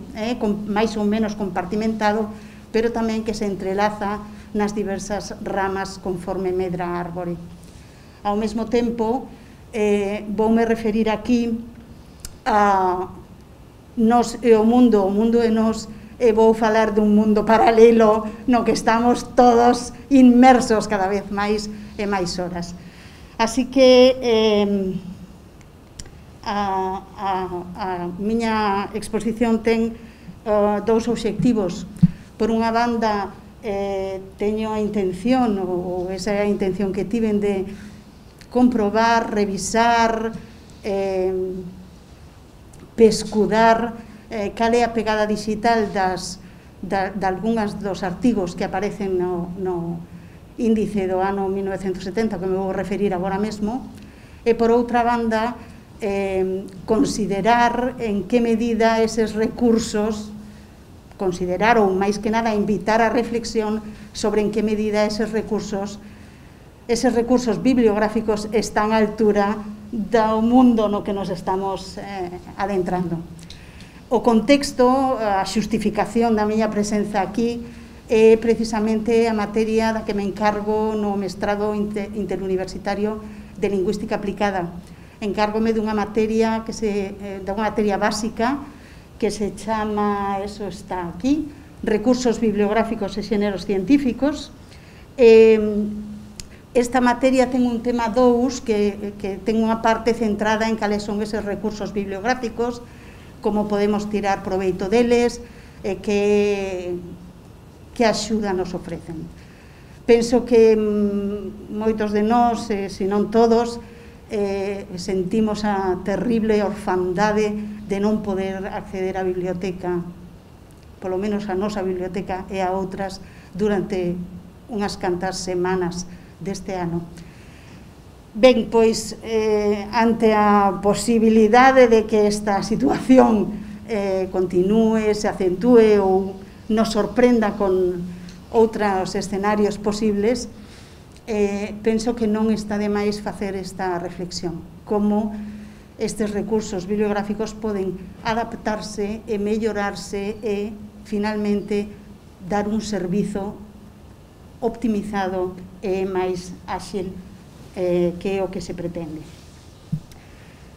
máis ou menos compartimentado, pero tamén que se entrelaza nas diversas ramas conforme medra a árbore. Ao mesmo tempo, voume referir aquí a nos e o mundo e nos, e vou falar dun mundo paralelo no que estamos todos inmersos cada vez máis e máis horas. Así que a miña exposición ten dous obxectivos. Por unha banda, teño a intención, ou esa é a intención que tiven, de comprobar, revisar, pescudar cal é a pegada digital de algunhas dos artigos que aparecen no índice do ano 1970, que me vou referir agora mesmo, e por outra banda, considerar en que medida eses recursos, considerar ou máis que nada invitar a reflexión sobre en que medida eses recursos bibliográficos están á altura do mundo no que nos estamos adentrando. O contexto, a xustificación da miña presenza aquí é precisamente a materia da que me encargo no mestrado interuniversitario de Lingüística Aplicada. Encárgome dunha materia básica que se chama, eso está aquí, Recursos bibliográficos e xéneros científicos. Esta materia ten un tema 2 que ten unha parte centrada en cales son eses recursos bibliográficos, como podemos tirar proveito deles, que axuda nos ofrecen. Penso que moitos de nós, se non todos, sentimos a terrible orfandade de non poder acceder á biblioteca, polo menos a nosa biblioteca e a outras, durante unhas cantas semanas deste ano. Ben, pois, ante a posibilidade de que esta situación continúe, se acentúe ou nos sorprenda con outros escenarios posibles, penso que non está de máis facer esta reflexión, como estes recursos bibliográficos poden adaptarse e mellorarse e, finalmente, dar un servizo optimizado e máis áxil que é o que se pretende.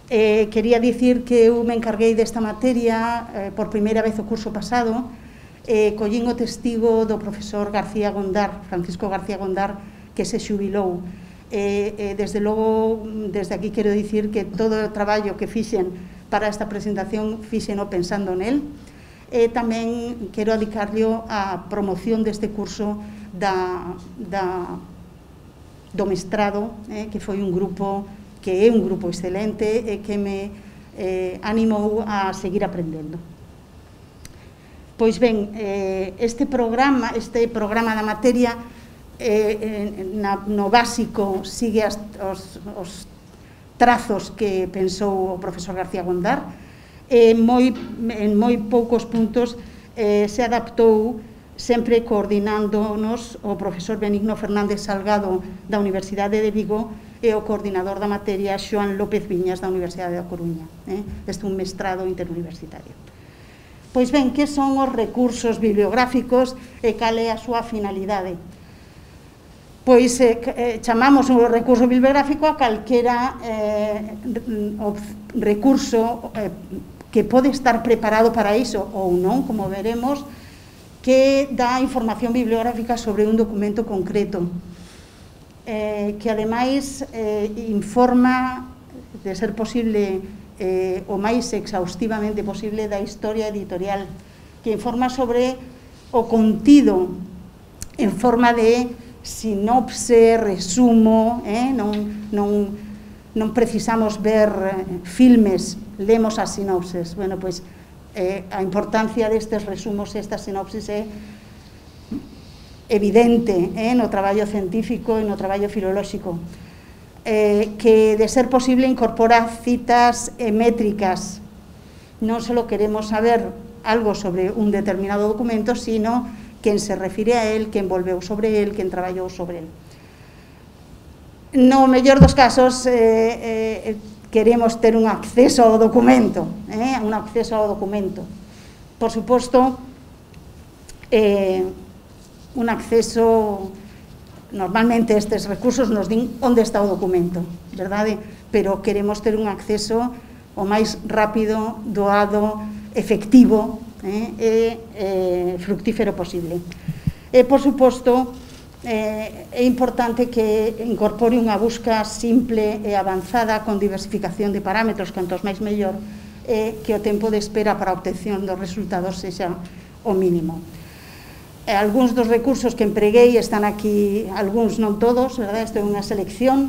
Quería dicir que eu me encarguei desta materia por primeira vez o curso pasado, collín o testigo do profesor García Gondar, Francisco García Gondar, que se xubilou. Desde logo, desde aquí quero dicir que todo o traballo que fixen para esta presentación fixeno pensando nel. Tamén quero adicarlle a promoción deste curso do mestrado, que foi un grupo, que é un grupo excelente e que me animou a seguir aprendendo. Pois ben, este programa da materia no básico sigue os trazos que pensou o profesor García Gondar. En moi poucos puntos se adaptou, sempre coordinándonos o profesor Benigno Fernández Salgado da Universidade de Vigo e o coordinador da materia Xoán López Viñas da Universidade da Coruña. Este é un mestrado interuniversitario. Pois ben, que son os recursos bibliográficos e cal é a súa finalidade? pois chamamos o recurso bibliográfico a calquera recurso que pode estar preparado para iso ou non, como veremos, que dá información bibliográfica sobre un documento concreto, que ademais informa, de ser posible, o máis exhaustivamente posible, da historia editorial, que informa sobre o contido en forma de sinopse, resumo, non precisamos ver filmes, lemos as sinopses. Bueno, pois a importancia destes resumos e estas sinopsis é evidente no traballo científico e no traballo filolóxico, que, de ser posible, incorpora citas e métricas. Non só queremos saber algo sobre un determinado documento, sino quen se refire a él, quen volveu sobre él, quen traballou sobre él. No mellor dos casos, queremos ter un acceso ao documento, Por suposto, un acceso, normalmente estes recursos nos din onde está o documento, verdade? Pero queremos ter un acceso o máis rápido, doado, efectivo e fructífero posible. E, por suposto, é importante que incorpore unha busca simple e avanzada con diversificación de parámetros, cantos máis mellor, e que o tempo de espera para a obtención dos resultados sexa o mínimo. Algúns dos recursos que empreguei están aquí, algúns non todos, verdade? Isto é unha selección,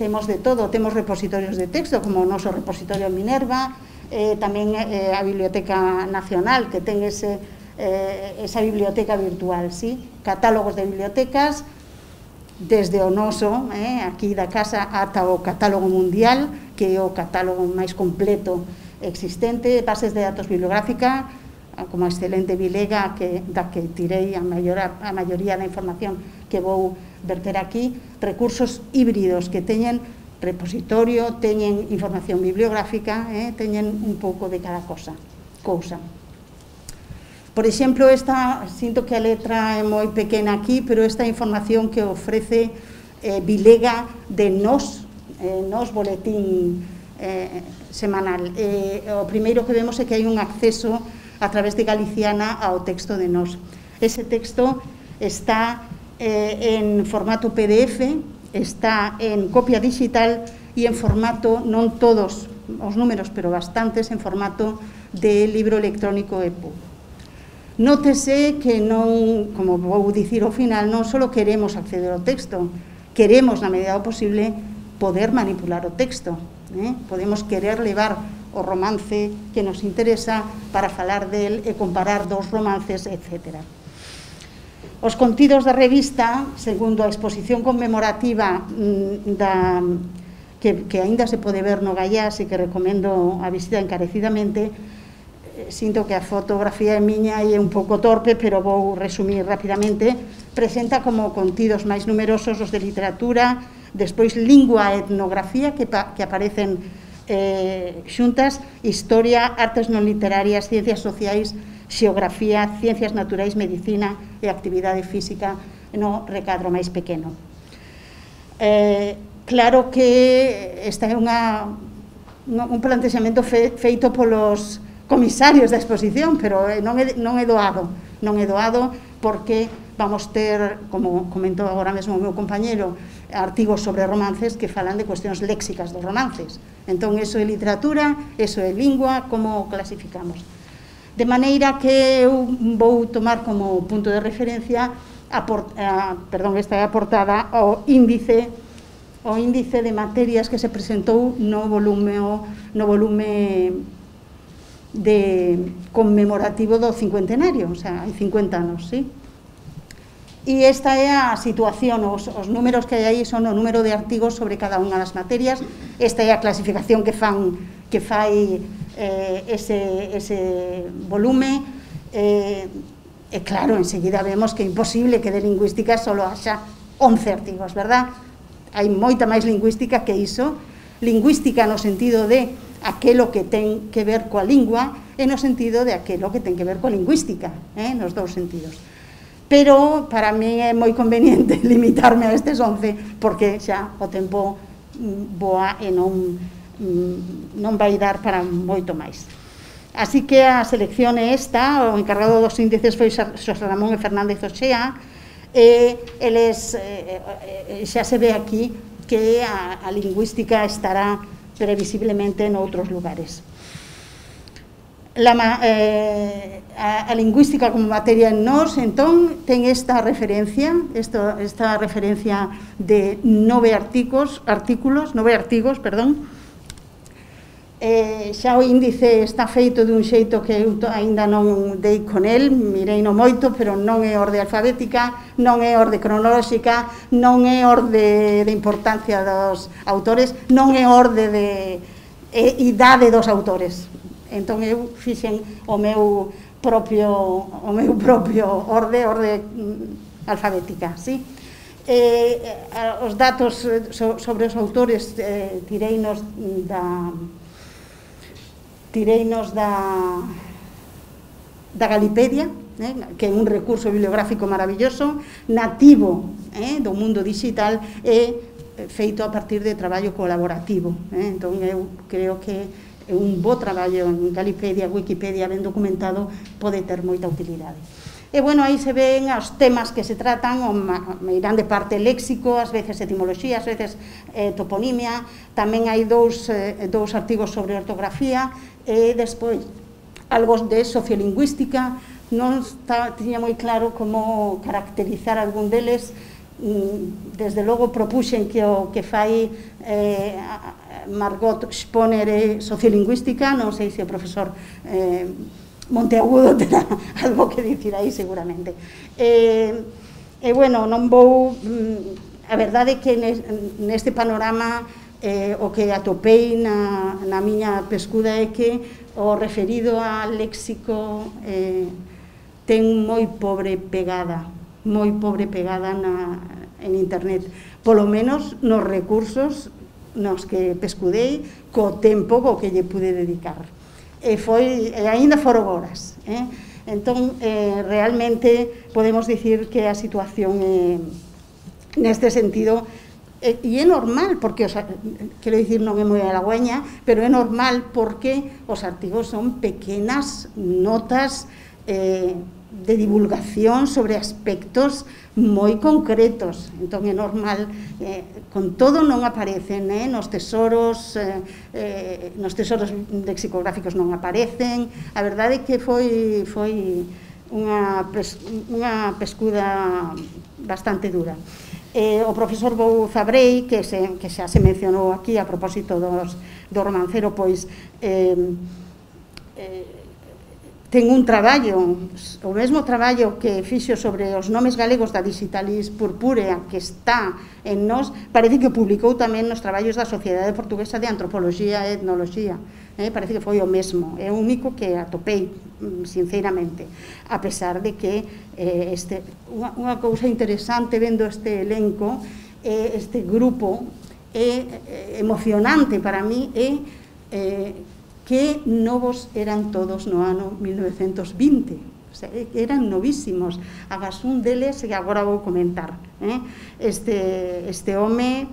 temos de todo, temos repositorios de texto, como o noso repositorio Minerva, tamén a Biblioteca Nacional, que ten esa biblioteca virtual, sí? Catálogos de bibliotecas, desde o noso, aquí da casa, ata o catálogo mundial, que é o catálogo máis completo existente, bases de datos bibliográfica, como a excelente Bilega, da que tirei a maioría da información que vou verter aquí, recursos híbridos que teñen repositorio, teñen información bibliográfica, teñen un pouco de cada cousa. Por exemplo, sinto que a letra é moi pequena aquí, pero esta información que ofrece Bilega de Nos boletín semanal. O primeiro que vemos é que hai un acceso a través de Galiciana ao texto de Nos. Ese texto está en formato PDF, está en copia digital e en formato, non todos os números, pero bastantes, en formato de libro electrónico EPUB. Nótese que non, como vou dicir ao final, non só queremos acceder ao texto, queremos, na medida do posible, poder manipular o texto. Podemos querer levar o romance que nos interesa para falar del e comparar dos romances, etc. Os contidos da revista, segundo a exposición conmemorativa que aínda se pode ver no Gaiás e que recomendo a visita encarecidamente, sinto que a fotografía é miña e é un pouco torpe, pero vou resumir rapidamente, presenta como contidos máis numerosos os de literatura, despois lingua e etnografía, que aparecen xuntas, historia, artes non literarias, ciencias sociais, xeografía, ciencias naturais, medicina e actividade física no recadro máis pequeno. Claro que este é un plantexamento feito polos comisarios da exposición, pero non é doado porque vamos ter, como comentou agora mesmo o meu compañero, artigos sobre romances que falan de cuestións léxicas dos romances. Entón, eso é literatura, eso é lingua, como o clasificamos? De maneira que eu vou tomar como punto de referencia esta é a portada ao índice de materias que se presentou no volume conmemorativo do cincuentenario, o sea, hai 50 anos, sí? E esta é a situación, os números que hai aí son o número de artigos sobre cada unha das materias, esta é a clasificación que fai ese volume, e claro, enseguida vemos que é imposible que de lingüística só haxa 11 artigos, verdad? Hai moita máis lingüística que iso, lingüística no sentido de aquelo que ten que ver coa lingua e no sentido de aquelo que ten que ver coa lingüística, nos dous sentidos. pero para mí é moi conveniente limitarme a estes 11 porque xa o tempo voa e non vai dar para moito máis. Así que a selección é esta, o encargado dos índices foi Xosé Ramón e Fernández Oxea, e eles, xa se ve aquí que a lingüística estará previsiblemente en outros lugares. A lingüística como materia en nós, entón, ten esta referencia de 9 artigos, xa o índice está feito dun xeito que eu aínda non dei con el, mirei no moito, pero non é orde alfabética, non é orde cronolóxica, non é orde de importancia dos autores, non é orde de idade dos autores. Entón eu fixen o meu propio orde alfabética, sí? Os datos sobre os autores tireinos da Galipedia, que é un recurso bibliográfico maravilloso, nativo do mundo digital e feito a partir de traballo colaborativo. Entón eu creo que un bo traballo en Galipedia, Wikipedia, ben documentado, pode ter moita utilidade. E, bueno, aí se ven os temas que se tratan, me irán de parte léxico, ás veces etimoloxía, ás veces toponimia, tamén hai dous artigos sobre ortografía, e despois algo de sociolingüística. Non tiña moi claro como caracterizar algún deles, desde logo propuxen que o que fai Margot Sponer é sociolingüística, non sei se o profesor Monteagudo terá algo que dicir aí seguramente. E, bueno, non vou... A verdade é que neste panorama o que atopei na miña pescuda é que o referido a léxico ten moi pobre pegada en internet, polo menos nos recursos nos que pescudei co tempo co que lle pude dedicar. E aínda foron horas. Entón, realmente podemos dicir que a situación neste sentido, e é normal, porque, quero dicir, non é moi halagüeña, pero é normal porque os artigos son pequenas notas de divulgación sobre aspectos moi concretos. Entón é normal, con todo non aparecen nos tesoros lexicográficos, non aparecen. A verdade é que foi unha pescuda bastante dura. O profesor Bou Zabrei, que xa se mencionou aquí a propósito do romancero, pois ten un traballo, o mesmo traballo que fixo sobre os nomes galegos da Digitalis Purpúrea, que está en nós, parece que publicou tamén nos traballos da Sociedade Portuguesa de Antropoloxía e Etnoloxía. Parece que foi o mesmo, é o único que atopei, sinceramente, a pesar de que unha cousa interesante vendo este elenco, este grupo, emocionante para mí, é que novos eran todos no ano 1920, eran novísimos. Agas un deles, e agora vou comentar, este home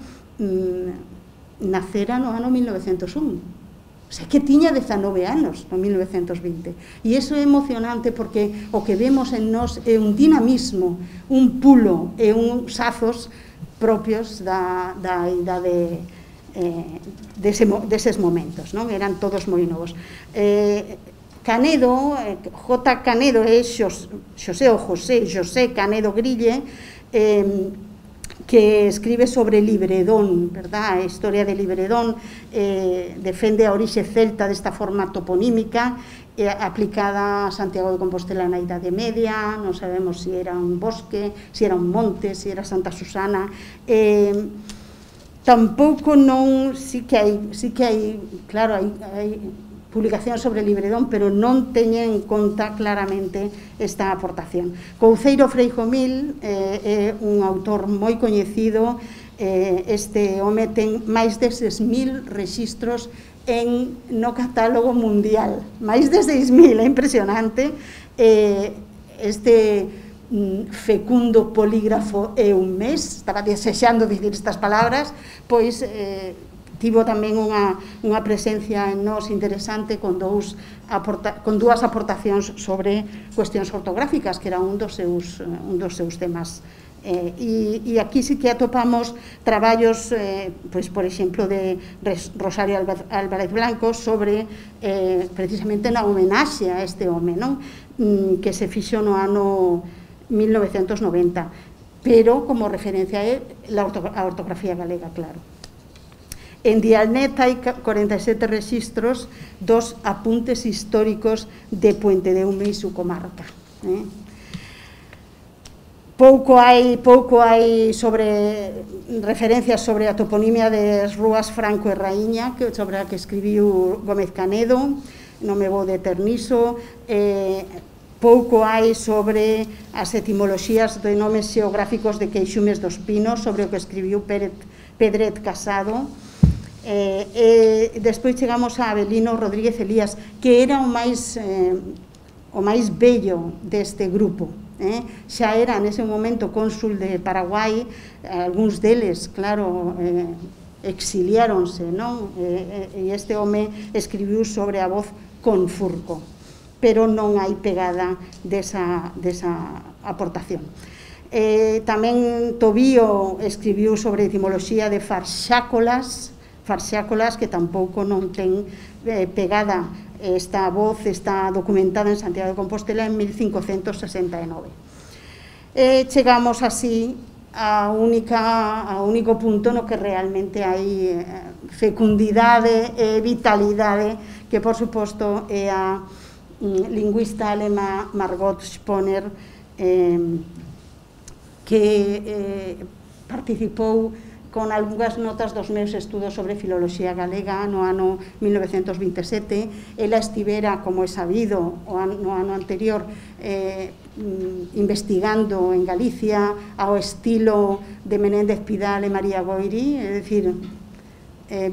nacera no ano 1901, que tiña 19 anos no 1920, e iso é emocionante porque o que vemos en nós é un dinamismo, un pulo e uns azos propios da idade deses momentos, non? Eran todos moi novos. Canedo, J. Canedo é José Canedo Grille, que escribe sobre Libredón, verdad? A historia de Libredón, defende a orixe celta desta forma toponímica, aplicada a Santiago de Compostela na Idade Media, non sabemos se era un bosque, se era un monte, se era Santa Susana. Tampouco non, sí que hai, claro, hai publicacións sobre Libredón, pero non teñen en conta claramente esta aportación. Couceiro Freijomil é un autor moi coñecido, este home ten máis de 6.000 rexistros no catálogo mundial, máis de 6.000, é impresionante. Este fecundo, polígrafo e un mes, estaba desexando dicir estas palabras, pois tivo tamén unha presencia en nós interesante con dúas aportacións sobre cuestións ortográficas, que era un dos seus temas. E aquí sí que atopamos traballos, pois, por exemplo, de Rosario Álvarez Blanco sobre, precisamente, na homenaxe a este home, non? Que se fixo no ano 1990, pero como referencia é a ortografía galega, claro. En Dialnet hai 47 rexistros dos apuntes históricos de Puente de Ume e su comarca. Pouco hai sobre referencias sobre a toponimia das rúas Franco e Raíña, sobre a que escribiu Gómez Canedo, non me vou deter niso. Pouco hai sobre as etimoloxías de nomes xeográficos de Queixumes dos Pinos, sobre o que escribiu Pedret Casado. Despois chegamos a Avelino Rodríguez Elías, que era o máis bello deste grupo. Xa era nese momento cónsul de Paraguai, algúns deles, claro, exiliáronse, non? E este home escribiu sobre a voz con Furco, pero non hai pegada desa aportación. Tamén Tobío escribiu sobre etimoloxía de farxácolas, que tampouco non ten pegada. Esta voz está documentada en Santiago de Compostela en 1569. Chegamos así ao único punto no que realmente hai fecundidade e vitalidade, que, por suposto, é a lingüista alemá Margot Sponer, que participou con algunhas notas dos meus estudos sobre filoloxía galega no ano 1927. Ela estivera, como é sabido, no ano anterior investigando en Galicia ao estilo de Menéndez Pidal e María Goiri, é dicir,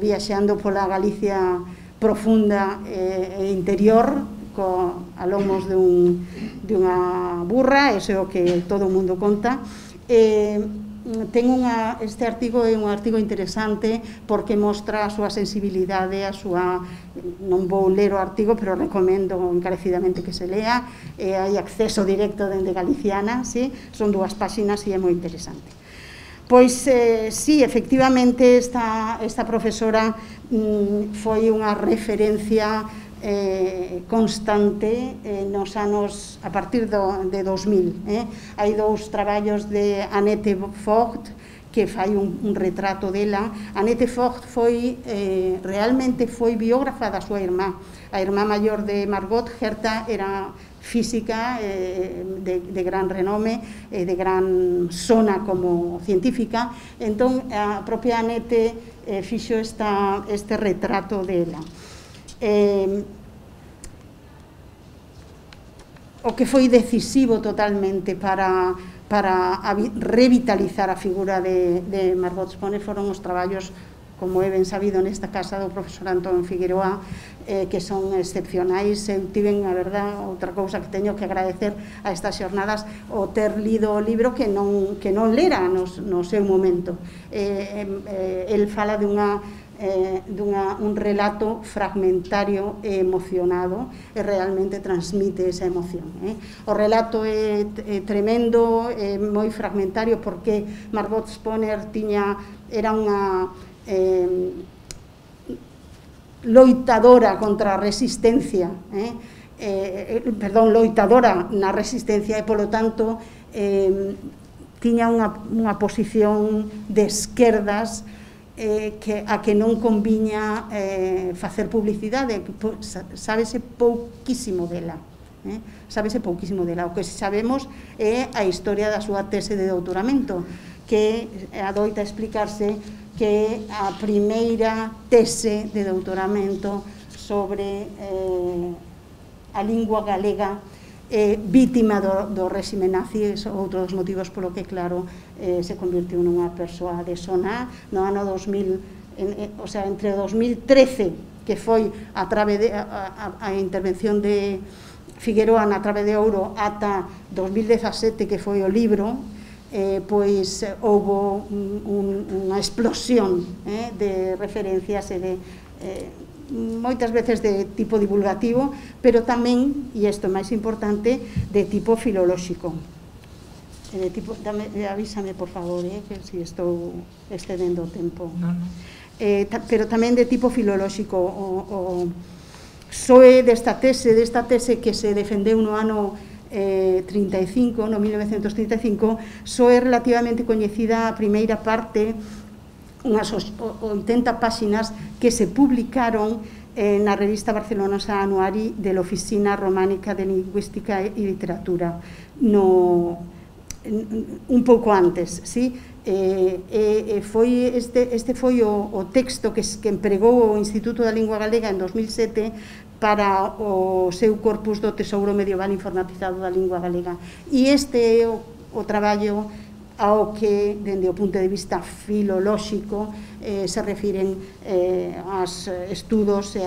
viaxeando pola Galicia profunda e interior a lomos dunha burra, ese é o que todo o mundo conta. Este artigo é un artigo interesante porque mostra a súa sensibilidade, non vou ler o artigo, pero recomendo encarecidamente que se lea. Hai acceso directo dende Galiciana, son 2 páxinas e é moi interesante. Pois, sí, efectivamente, esta profesora foi unha referencia constante nos anos a partir de 2000. Hai 2 traballos de Annette Vogt que fai un retrato dela. Annette Vogt realmente foi biógrafa da súa irmá. A irmá maior de Margot, Herta, era física de gran renome, de gran sona como científica. Entón, a propia Annette fixo este retrato dela. O que foi decisivo totalmente para revitalizar a figura de Margot Sponer foron os traballos, como é ben sabido nesta casa, do profesor Antón Figueroa, que son excepcionais. Eu tiven, a verdad, outra cousa que teño que agradecer a estas xornadas, o ter lido o libro que non lera no seu momento. El fala un relato fragmentario e emocionado, e realmente transmite esa emoción. O relato é tremendo, é moi fragmentario, porque Margot Sponer era unha loitadora contra a resistencia, loitadora na resistencia, e, polo tanto, tiña unha posición de esquerdas a que non conviña facer publicidade. Sábese pouquísimo dela. O que sabemos é a historia da súa tese de doutoramento, que adoita explicarse que a primeira tese de doutoramento sobre a lingua galega vítima do réxime nazi, outro dos motivos polo que, claro, se convirtiu nunha persoa de sona no ano 2000, o sea, entre 2013, que foi a intervención de Figueroa na Trave de Ouro ata 2017, que foi o libro, pois houve unha explosión de referencias e de moitas veces de tipo divulgativo, pero tamén, e isto é máis importante, de tipo filolóxico. Avísame, por favor, que se estou excedendo o tempo. Pero tamén de tipo filolóxico. O SOE desta tese que se defendeu no ano 35, no 1935, SOE relativamente coñecida a primeira parte, unhas 80 páxinas que se publicaron na revista barcelonesa Anuari de la Oficina Románica de Lingüística e Literatura, un pouco antes, sí? Este foi o texto que empregou o Instituto da Lingua Galega en 2007 para o seu corpus do Tesouro Medieval Informatizado da Lingua Galega. E este é o traballo ao que, dende o punto de vista filolóxico, se refiren aos estudos e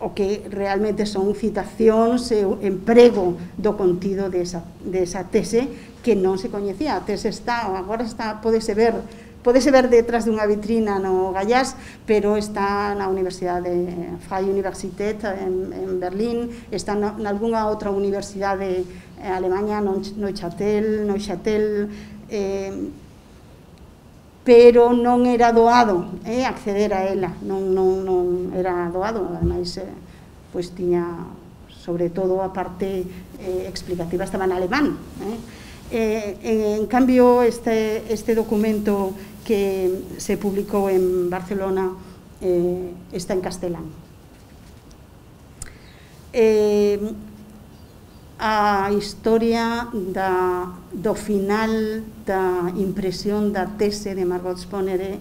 o que realmente son citacións e o emprego do contido desa tese que non se coñecía. A tese agora podese ver detrás dunha vitrina no Gallás, pero está na Universidade Freie Universität en Berlín, está nalgúnha outra universidade Alemanha, Neuchâtel, pero non era doado acceder a ela, non era doado, ademais tiña, sobre todo, a parte explicativa estaba en alemán. En cambio, este documento que se publicou en Barcelona está en castelán. A historia do final da impresión da tese de Margot Sponer é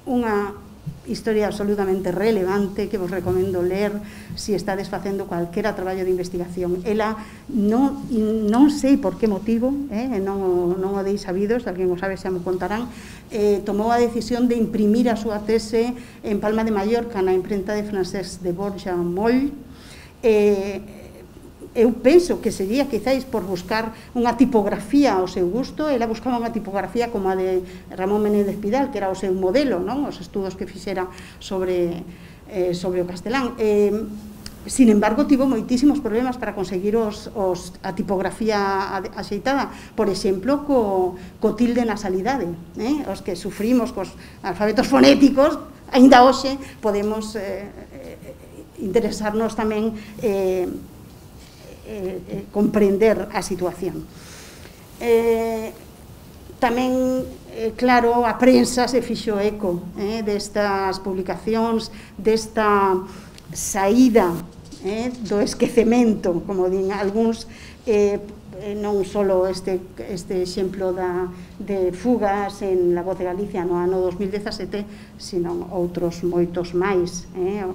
unha historia absolutamente relevante que vos recomendo ler se estades facendo cualquera traballo de investigación. Ela non sei por que motivo, non o dei sabido, se alguén o sabe xa me contarán, tomou a decisión de imprimir a súa tese en Palma de Mallorca na imprenta de Francesc de Borja Moll. Eu penso que sería quizáis por buscar unha tipografía ao seu gusto. Ela buscaba unha tipografía como a de Ramón Menéndez Pidal, que era o seu modelo, os estudos que fixera sobre o castelán. Sin embargo, tivo moitísimos problemas para conseguir a tipografía axeitada, por exemplo, co tilde nasalidade. Os que sufrimos cos alfabetos fonéticos, aínda hoxe podemos interesarnos tamén comprender a situación. Tamén, claro, a prensa se fixo eco destas publicacións, desta saída do esquecemento, como din algúns, non só este exemplo de fugas en La Voz de Galicia no ano 2017, sino outros moitos máis,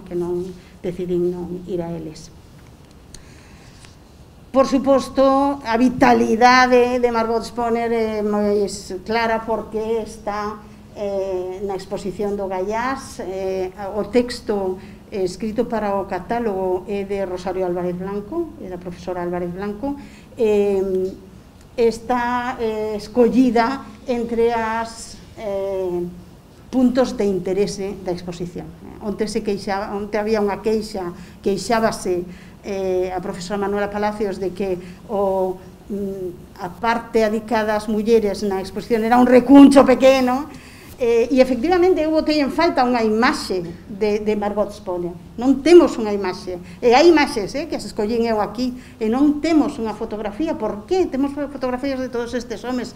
que non decidín non ir a eles. Por suposto, a vitalidade de Margot Sponer é moi clara porque está na exposición do Gallás. O texto escrito para o catálogo é de Rosario Álvarez Blanco, é da profesora Álvarez Blanco. Está escollida entre as puntos de interese da exposición. Onte había unha queixa, queixábase a profesora Manuela Palacios de que a parte dedicada ás mulleres na exposición era un recuncho pequeno, e efectivamente eu botei en falta unha imaxe de Margot Sponer. Non temos unha imaxe, e hai imaxes que as escollín eu aquí, e non temos unha fotografía. Por que? Temos fotografías de todos estes homes,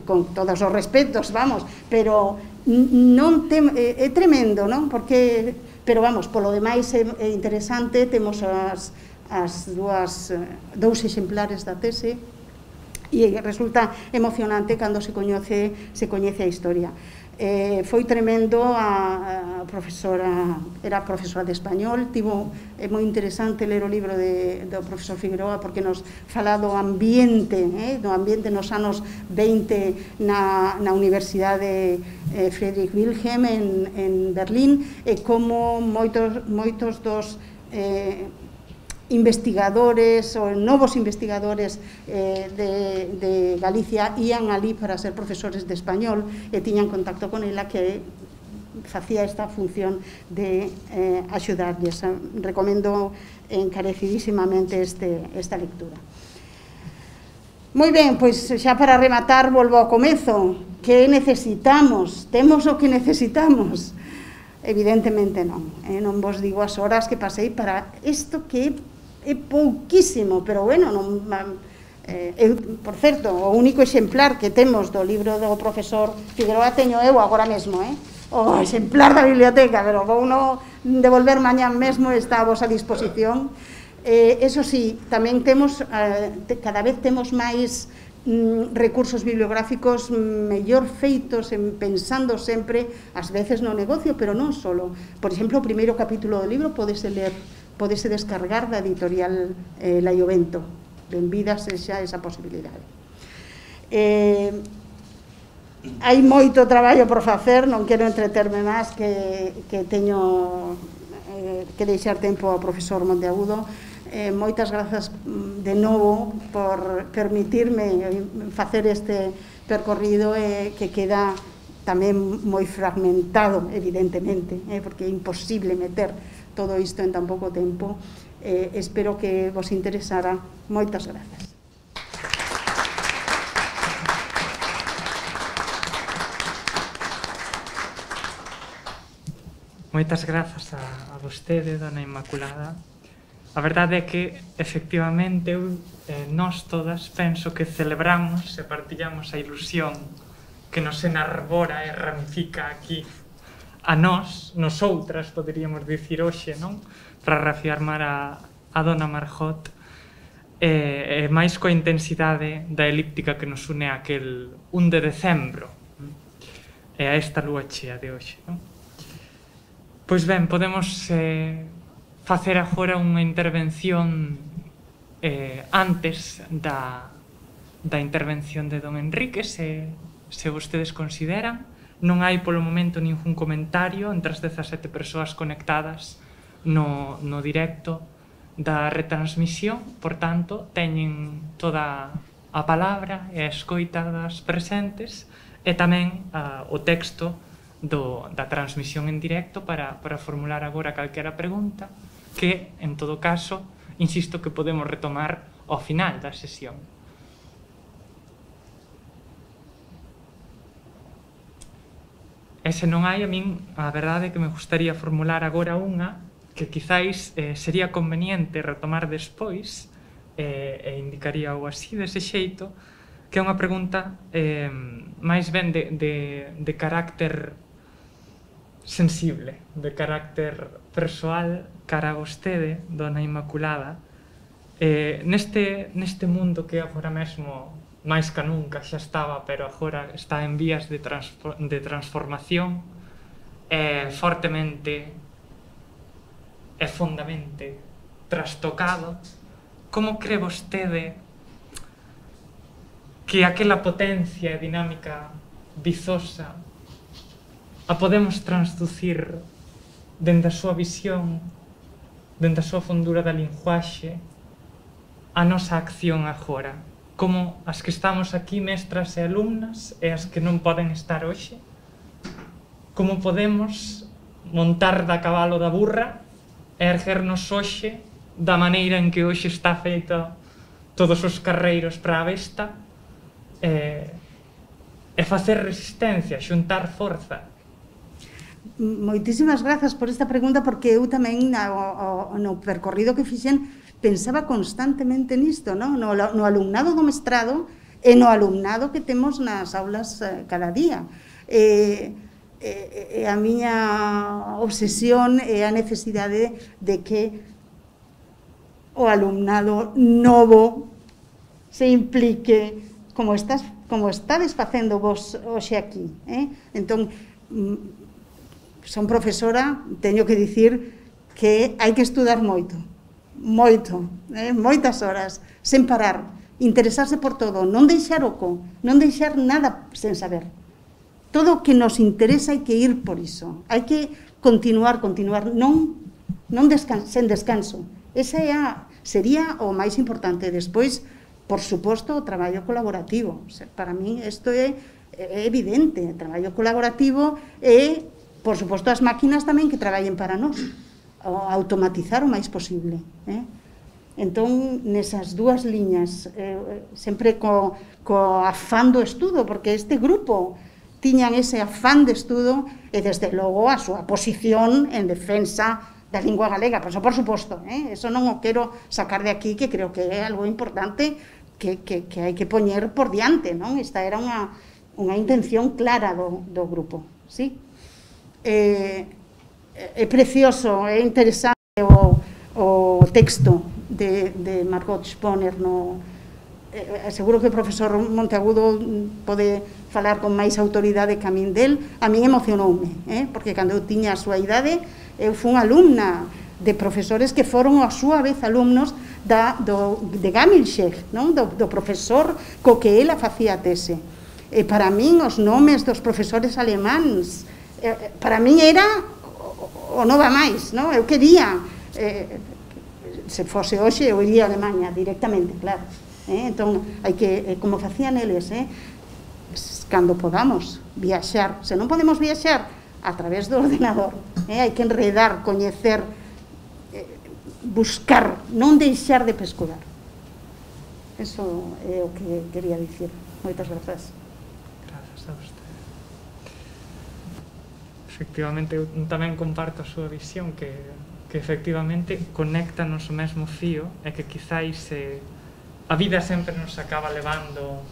con todos os respetos, vamos, pero non é tremendo, non? Porque, pero vamos, polo demais é interesante, temos dous exemplares da tese, e resulta emocionante cando se coñece a historia. Foi tremendo, a profesora era profesora de español, é moi interesante ler o libro do profesor Figueroa porque nos fala do ambiente nos anos 20 na Universidade Friedrich Wilhelm en Berlín, e como moitos dos investigadores ou novos investigadores de Galicia ían ali para ser profesores de español e tiñan contacto con ela que facía esta función de axudarlles. Recomendo encarecidísimamente esta lectura. Moi ben, pois xa para rematar volvo ao comezo. Que necesitamos? Temos o que necesitamos? Evidentemente non. Non vos digo as horas que pasei para isto que é pouquísimo, pero bueno, non, por certo, o único exemplar que temos do libro do profesor Figueroa teño eu agora mesmo, o exemplar da biblioteca, pero vou no devolver mañán mesmo, está a vosa disposición. Eso sí, tamén temos, cada vez temos máis recursos bibliográficos mellor feitos, pensando sempre, ás veces no negocio, pero non solo. Por exemplo, o primeiro capítulo do libro podese ler, podese descargar da editorial La Iovento. Benvida sexa esa posibilidade. Hai moito traballo por facer, non quero entreterme máis, que teño que deixar tempo ao profesor Monteagudo. Moitas grazas de novo por permitirme facer este percorrido que queda tamén moi fragmentado, evidentemente, porque é imposible meter todo isto en tan pouco tempo. Espero que vos interesara. Moitas grazas. Moitas grazas a vostede, dona Inmaculada. A verdade é que, efectivamente, nós todas penso que celebramos e partillamos a ilusión que nos enarbora e ramifica aquí a nós, nosoutras, poderíamos dicir hoxe, non? Para reafirmar a dona Margot, e máis coa intensidade da elíptica que nos une aquel 1 de decembro e a esta lúa chea de hoxe, non? Pois ben, podemos facer agora unha intervención antes da intervención de don Enrique, se vostedes consideran. Non hai polo momento ningún comentario entre as 17 persoas conectadas no directo da retransmisión, por tanto, teñen toda a palabra e a escoita das presentes e tamén o texto da transmisión en directo para formular agora calquera pregunta que, en todo caso, insisto que podemos retomar ao final da sesión. E se non hai, a min, a verdade é que me gustaría formular agora unha que quizáis sería conveniente retomar despois e indicaría o así, dese xeito, que é unha pregunta máis ben de carácter sensible, de carácter persoal cara a vostede, dona Inmaculada. Neste mundo que agora mesmo máis que nunca xa estaba, pero agora está en vías de transformación, fortemente e fondamente trastocado, como cree vostede que aquela potencia e dinámica vizosa a podemos transducir dende a súa visión, dende a súa fondura da linguaxe, a nosa acción agora? Como as que estamos aquí, mestras e alumnas, e as que non poden estar hoxe? Como podemos montar da cabalo da burra e erguernos hoxe da maneira en que hoxe está feito todos os carreiros para a besta e facer resistencia, xuntar forza? Moitísimas grazas por esta pregunta, porque eu tamén no percorrido que fixen pensaba constantemente nisto, no alumnado do mestrado e no alumnado que temos nas aulas cada día. A miña obsesión é a necesidade de que o alumnado novo se implique como estades facendo vos hoxe aquí. Entón, son profesora, teño que dicir que hai que estudar moito, moitas horas, sen parar, interesarse por todo, non deixar oco, non deixar nada sen saber. Todo o que nos interesa hai que ir por iso, hai que continuar, non sen descanso. Esa é sería o máis importante. Despois, por suposto, o traballo colaborativo. Para min isto é evidente, o traballo colaborativo e, por suposto, as máquinas tamén que traballen para nós, automatizar o máis posible. Entón, nesas dúas liñas, sempre co afán do estudo, porque este grupo tiñan ese afán de estudo e, desde logo, a súa posición en defensa da lingua galega. Por suposto, eso non o quero sacar de aquí, que creo que é algo importante que hai que poñer por diante, non? Esta era unha intención clara do grupo, sí? É precioso, é interesante o texto de Margot Sponer. Seguro que o profesor Monteagudo pode falar con máis autoridade que a min del. A min emocionoume, porque cando eu tiña a súa idade, eu fui alumna de profesores que foron a súa vez alumnos de Gamilchek, do profesor co que ela facía tese. E para min os nomes dos profesores alemáns, para min era o non va máis, eu quería, se fose hoxe eu iría a Alemanha directamente, claro. Entón, hai que, como facían eles, cando podamos viaxar, se non podemos viaxar a través do ordenador, hai que enredar, coñecer, buscar, non deixar de pescurar. Eso é o que quería dicir. Moitas grazas. Grazas a vostede. Efectivamente, eu tamén comparto a súa visión, que efectivamente conéctanos o mesmo fío, e que quizáis a vida sempre nos acaba levando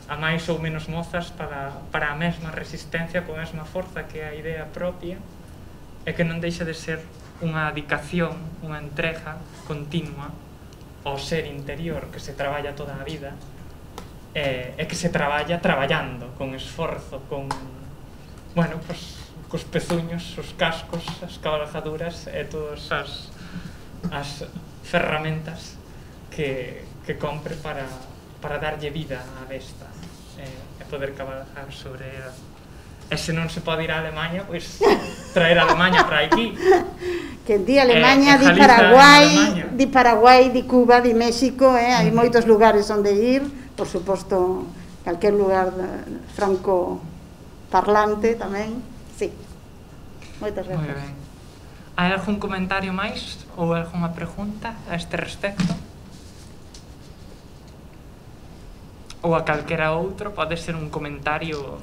a máis ou menos mozas para a mesma resistencia, coa mesma forza que é a idea propia, e que non deixa de ser unha dedicación, unha entrega continua ao ser interior que se traballa toda a vida, e que se traballa traballando, con esforzo, con, bueno, pues, cos pezuños, os cascos, as cabalgaduras e todas as ferramentas que compre para darlle vida á besta e poder cabalgar sobre ela. E se non se pode ir a Alemanha, pois traer a Alemanha para aquí. Que di Alemanha, di Paraguai, di Cuba, di México, hai moitos lugares onde ir, por suposto, calquer lugar franco parlante tamén, sí. Moitas grazas. Moi ben. Hai algún comentario máis ou algunha pregunta a este respecto? Ou a calquera outro, pode ser un comentario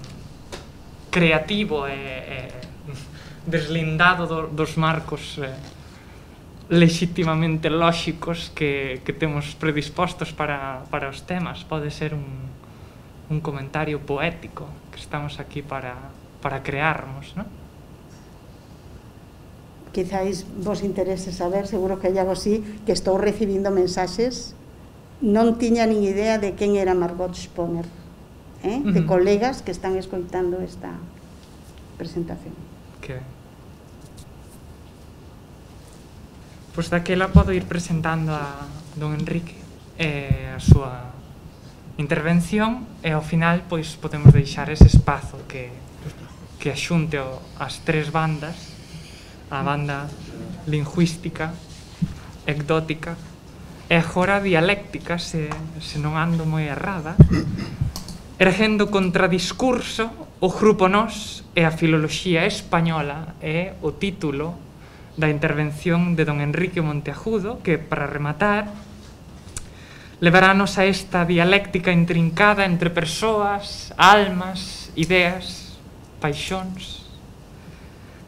creativo e deslindado dos marcos legitimamente lóxicos que temos predispostos para os temas. Pode ser un comentario poético, que estamos aquí para crearmos, non? Quizáis vos interese saber, seguro que hai algo así, que estou recibindo mensaxes. Non tiña nin idea de quen era Margot Sponer, de colegas que están escoitando esta presentación. Que ben. Pois daquela podo ir presentando a don Enrique a súa intervención, e ao final pois podemos deixar ese espazo que axunte as tres bandas, a banda lingüística, ecdótica e agora dialéctica, se non ando moi errada, erguendo contradiscurso o grupo Nós e a filoloxía española, é o título da intervención de don Enrique Monteagudo, que, para rematar, levarános a esta dialéctica intrincada entre persoas, almas, ideas, paixóns,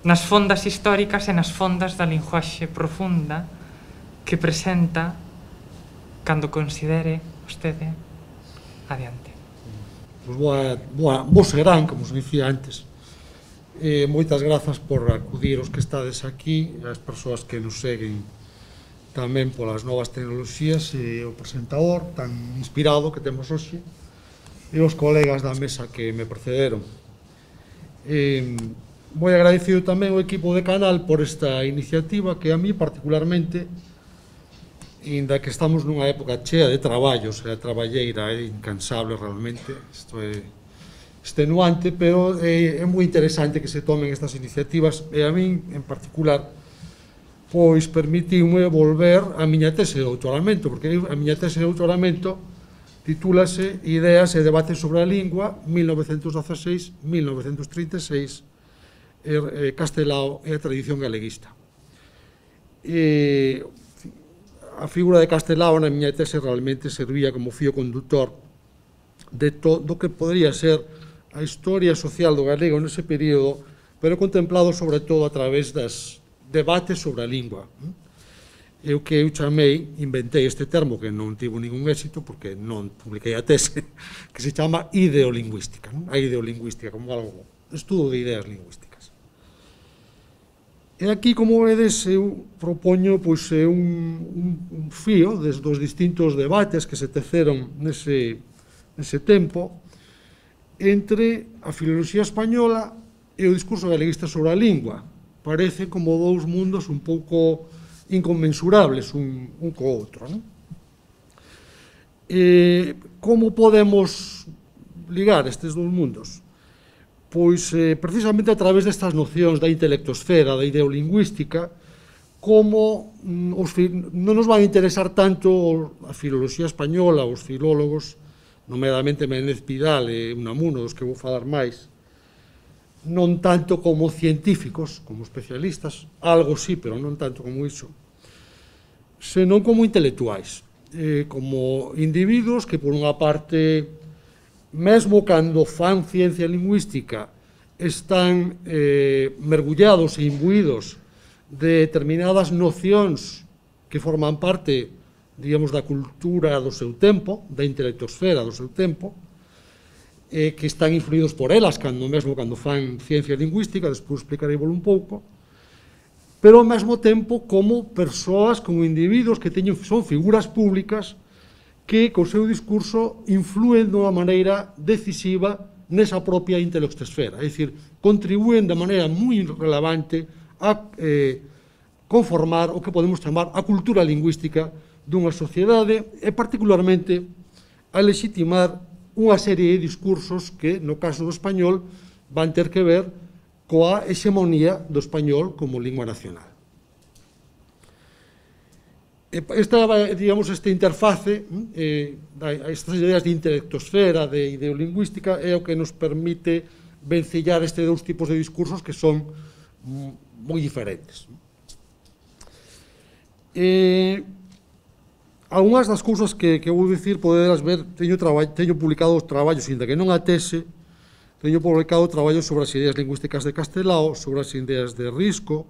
nas fondas históricas e nas fondas da linguaxe profunda que presenta, cando considere vostede, adiante. Vos serán, como os dicía antes. Moitas grazas por acudir os que estades aquí, as persoas que nos seguen tamén polas novas tecnoloxías, e o presentador tan inspirado que temos hoxe, e os colegas da mesa que me precederon. Moi agradecido tamén ao equipo de Canal por esta iniciativa, que a mí particularmente, inda que estamos nunha época chea de traballos, a traballeira é incansable realmente, isto é extenuante, pero é moi interesante que se tomen estas iniciativas, e a min en particular pois permitiume volver a miña tese de doutoramento, porque a miña tese de doutoramento titúlase Ideas e debates sobre a lingua 1916-1936, Castelao e a tradición galeguista. A figura de Castelao na miña tese realmente servía como fío conductor de todo que podría ser a historia social do galego nese período, pero contemplado sobre todo a través das debates sobre a lingua. Eu que eu chamei, inventei este termo que non tivo ningún éxito porque non publiquei a tese, que se chama ideolingüística, a ideolingüística como algo, estudo de ideas lingüísticas. E aquí, como vedes, eu propoño un fío dos distintos debates que se teceron nese tempo entre a filoloxía española e o discurso galeguista sobre a lingua. Parece como dous mundos un pouco inconmensurables un co outro. Como podemos ligar estes dous mundos? Pois precisamente a través destas nocións da intelectosfera, da ideolingüística, como non nos van a interesar tanto a filoloxía española, os filólogos, nomeadamente Menéndez Pidal e Unamuno, dos que vou falar máis, non tanto como científicos, como especialistas, algo sí, pero non tanto como iso, senón como intelectuais, como individuos que, por unha parte, mesmo cando fan ciencia lingüística, están mergullados e imbuídos de determinadas nocións que forman parte, digamos, da cultura do seu tempo, da intelectosfera do seu tempo, que están influídos por elas, mesmo cando fan ciencia lingüística, despois explicarei un pouco, pero ao mesmo tempo como persoas, como individuos que son figuras públicas que, co seu discurso, influen dunha maneira decisiva nesa propia intelectosfera, é dicir, contribúen de maneira moi relevante a conformar o que podemos chamar a cultura lingüística dunha sociedade e, particularmente, a legitimar unha serie de discursos que, no caso do español, van ter que ver coa hexemonía do español como lingua nacional. Esta interface, estas ideas de intelectosfera, de ideolingüística, é o que nos permite vencillar estes dous tipos de discursos que son moi diferentes. Algunhas das cousas que vou dicir, poderas ver, teño publicado traballos, ainda que non a tese, teño publicado traballos sobre as ideas lingüísticas de Castelao, sobre as ideas de Risco,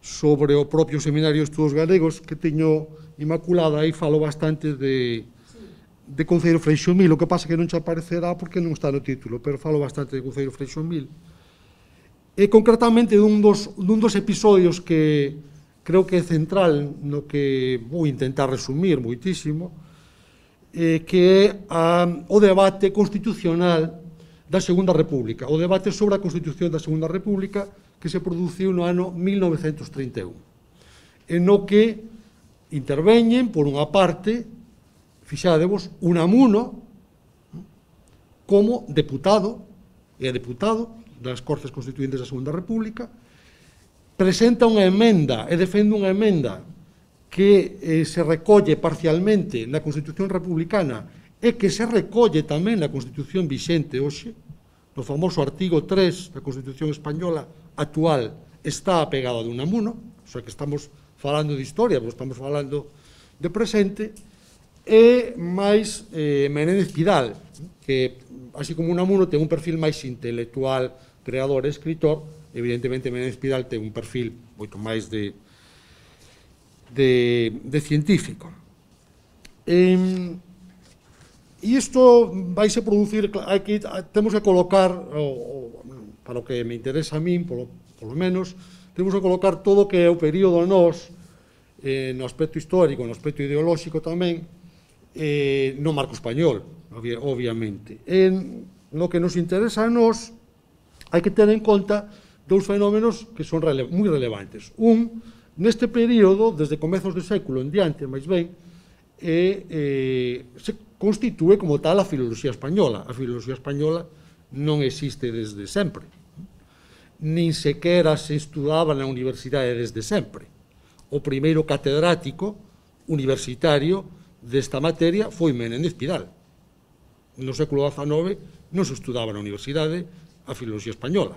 sobre o propio Seminario de Estudos Galegos, que teño inmaculada, aí falo bastante de Conceiro Freixomil, o que pasa que non te aparecerá porque non está no título, pero falo bastante de Conceiro Freixomil. E concretamente dun dos episodios que creo que é central no que vou intentar resumir moitísimo, que é o debate constitucional da Segunda República, o debate sobre a Constitución da Segunda República que se produciu no ano 1931, en no que interveñen, por unha parte, fixadevos, Unamuno como deputado das Cortes Constituintes da Segunda República, presenta unha emenda e defende unha emenda que se recolle parcialmente na Constitución Republicana e que se recolle tamén na Constitución vixente hoxe, no famoso artigo 3 da Constitución Española actual está apegada de Unamuno, o sea que estamos falando de historia, pero estamos falando de presente, e máis Menéndez Pidal, que, así como Unamuno, ten un perfil máis intelectual, creador e escritor. Evidentemente, Menéndez Pidal ten un perfil moito máis de científico. E isto vaise producir, temos que colocar, para o que me interesa a min, polo menos, temos que colocar todo o que é o período nós, no aspecto histórico, no aspecto ideolóxico tamén, no marco español, obviamente. No que nos interesa a nós, hai que ter en conta dous fenómenos que son moi relevantes. Neste período, desde comezos do século en diante, máis ben, se constitúe como tal a filoloxía española. A filoloxía española non existe desde sempre, nin sequera se estudaba na universidade desde sempre. o primeiro catedrático universitario desta materia foi Menéndez Pidal. No século XIX non se estudaba na universidade a filoloxía española.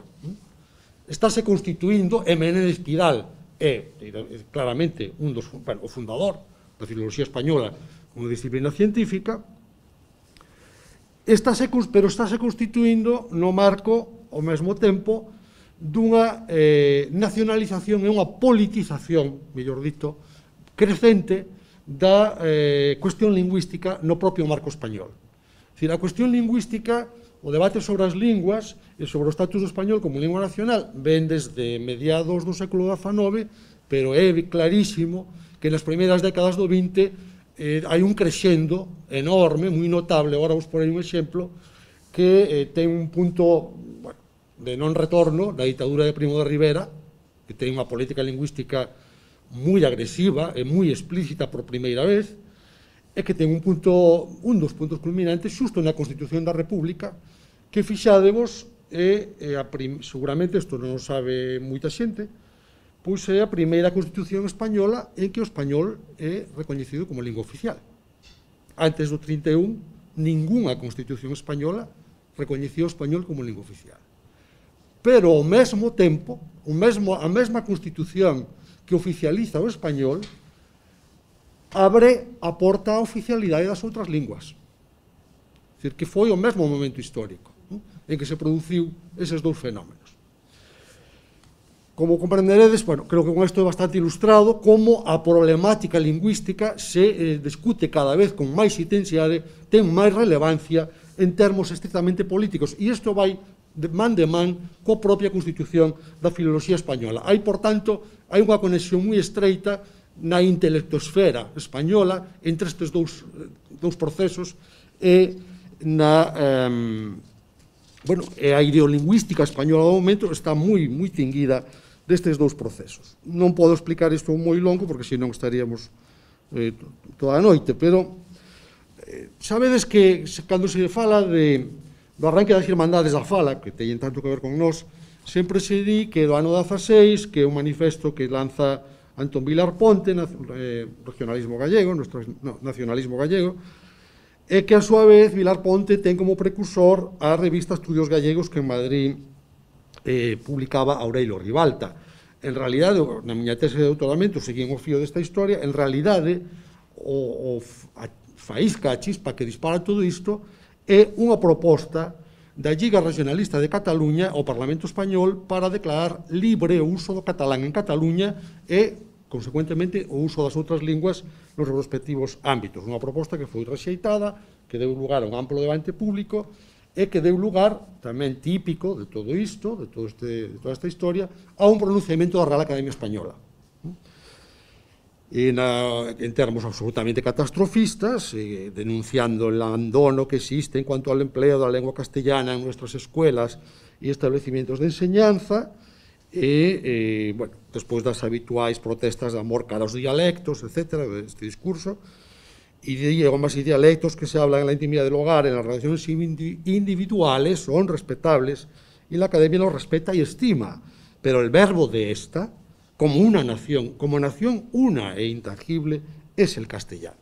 Estáse constituindo, e Menéndez Pidal é claramente o fundador da filoloxía española como disciplina científica, pero estáse constituindo no marco, ao mesmo tempo, dunha nacionalización e unha politización, mellor dito, crecente da cuestión lingüística no propio marco español. É dicir, a cuestión lingüística, o debate sobre as linguas e sobre o estatus do español como lingua nacional ven desde mediados do século XIX, pero é clarísimo que nas primeiras décadas do XX hai un crescendo enorme, moi notable. Agora vos porei un exemplo que ten un punto de non retorno da ditadura de Primo de Rivera, que ten unha política lingüística moi agresiva e moi explícita por primeira vez, e que ten un dos puntos culminantes xusto na Constitución da República, que fixádevos seguramente isto non o sabe moita xente, pois é a primeira Constitución española en que o español é recoñecido como lingua oficial. Antes do 31, ningunha Constitución española recoñecía o español como lingua oficial. Pero ao mesmo tempo, a mesma Constitución que oficializa o español abre a porta á oficialidade das outras linguas. É dicir, que foi o mesmo momento histórico en que se produciu eses dous fenómenos. Como comprenderedes, creo que con isto é bastante ilustrado como a problemática lingüística se discute cada vez con máis intensidade, ten máis relevancia en termos estrictamente políticos, e isto vai de man coa propia Constitución da filoloxía española. Por tanto, hai unha conexión moi estreita na intelectosfera española entre estes dous procesos e a ideolingüística española do momento está moi tinguida destes dous procesos. Non podo explicar isto moi longo porque senón estaríamos toda a noite, pero sabedes que cando se fala do arranque das Irmandades da Fala, que teñen tanto que ver con nós, sempre se di que do ano 16, que é un manifesto que lanza Antón Vilar Ponte, nacionalismo gallego, e que a súa vez Vilar Ponte ten como precursor a revista Estudios Gallegos que en Madrid publicaba Aurelio Ribalta. En realidade, na miña tese de doutoramento, seguín o fío desta historia, en realidade, a faísca, a chispa que dispara todo isto é unha proposta da Lliga Regionalista de Cataluña ao Parlamento Español para declarar libre o uso do catalán en Cataluña e, consecuentemente, o uso das outras linguas nos respectivos ámbitos. Unha proposta que foi rexeitada, que deu lugar a un amplo debate público e que deu lugar, tamén típico de todo isto, de toda esta historia, a un pronunciamento da Real Academia Española. En termos absolutamente catastrofistas, denunciando el abandono que existe en cuanto al empleo de la lengua castellana en nuestras escuelas y establecimientos de enseñanza, despois das habituais protestas de amor cara aos dialectos, etc., este discurso, idiomas y dialectos que se hablan en la intimidad del hogar, en las relaciones individuales, son respetables, y la Academia los respeta y estima, pero el verbo de esta, como nación una e intangible, es el castellano.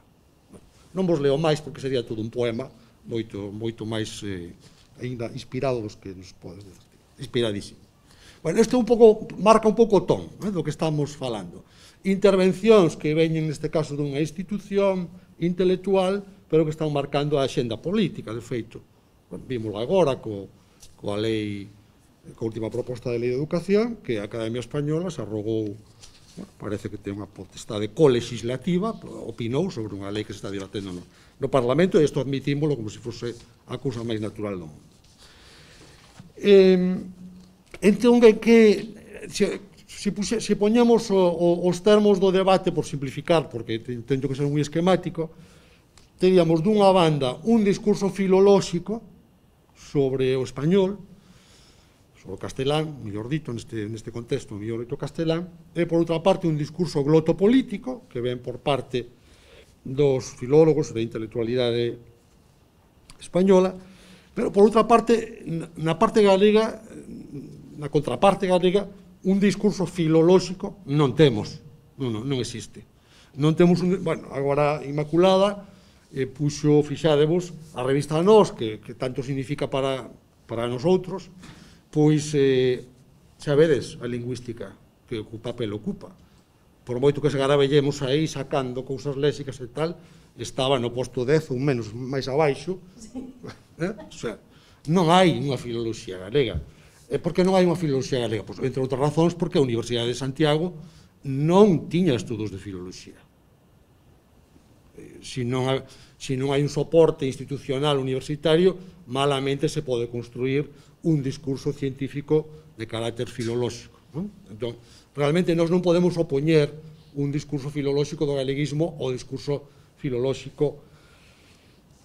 Non vos leo máis porque sería todo un poema moito máis ainda inspirado dos que nos podes decir. Inspiradísimo. Isto marca un pouco o ton do que estamos falando. Intervencións que veñen neste caso dunha institución intelectual, pero que están marcando a axenda política, de feito. Vímoslo agora coa lei, coa última proposta de lei de educación, que a Academia Española se arrogou, parece que ten unha potestade colegislativa, opinou sobre unha lei que se está debatendo no Parlamento, e isto admitímoslo como se fose a cousa máis natural do mundo. Entón, se poñemos os termos do debate, por simplificar, porque tento que ser moi esquemático, teríamos dunha banda un discurso filolóxico sobre o español, sobre o castelán, mellor dito, neste contexto, mellor dito castelán, e, por outra parte, un discurso glotopolítico, que ven por parte dos filólogos da intelectualidade española, pero, por outra parte, na parte galega, na contraparte galega, un discurso filolóxico non temos. non existe. Non temos bueno, agora Inmaculada puxo, fixádevos, a revista Nós, que tanto significa para nosotros, pois sabedes a lingüística que o papel ocupa. Por moito que se garabellemos aí sacando cousas léxicas e tal, estaba no posto 10 ou menos máis abaixo. O sea, non hai unha filoloxía galega. Por que non hai unha filoloxía galega? Pois, entre outras razóns, porque a Universidade de Santiago non tiña estudos de filoloxía. Se non hai un soporte institucional universitario, malamente se pode construir un discurso científico de carácter filolóxico. Entón, realmente nós non podemos opoñer un discurso filolóxico do galeguismo ao discurso filolóxico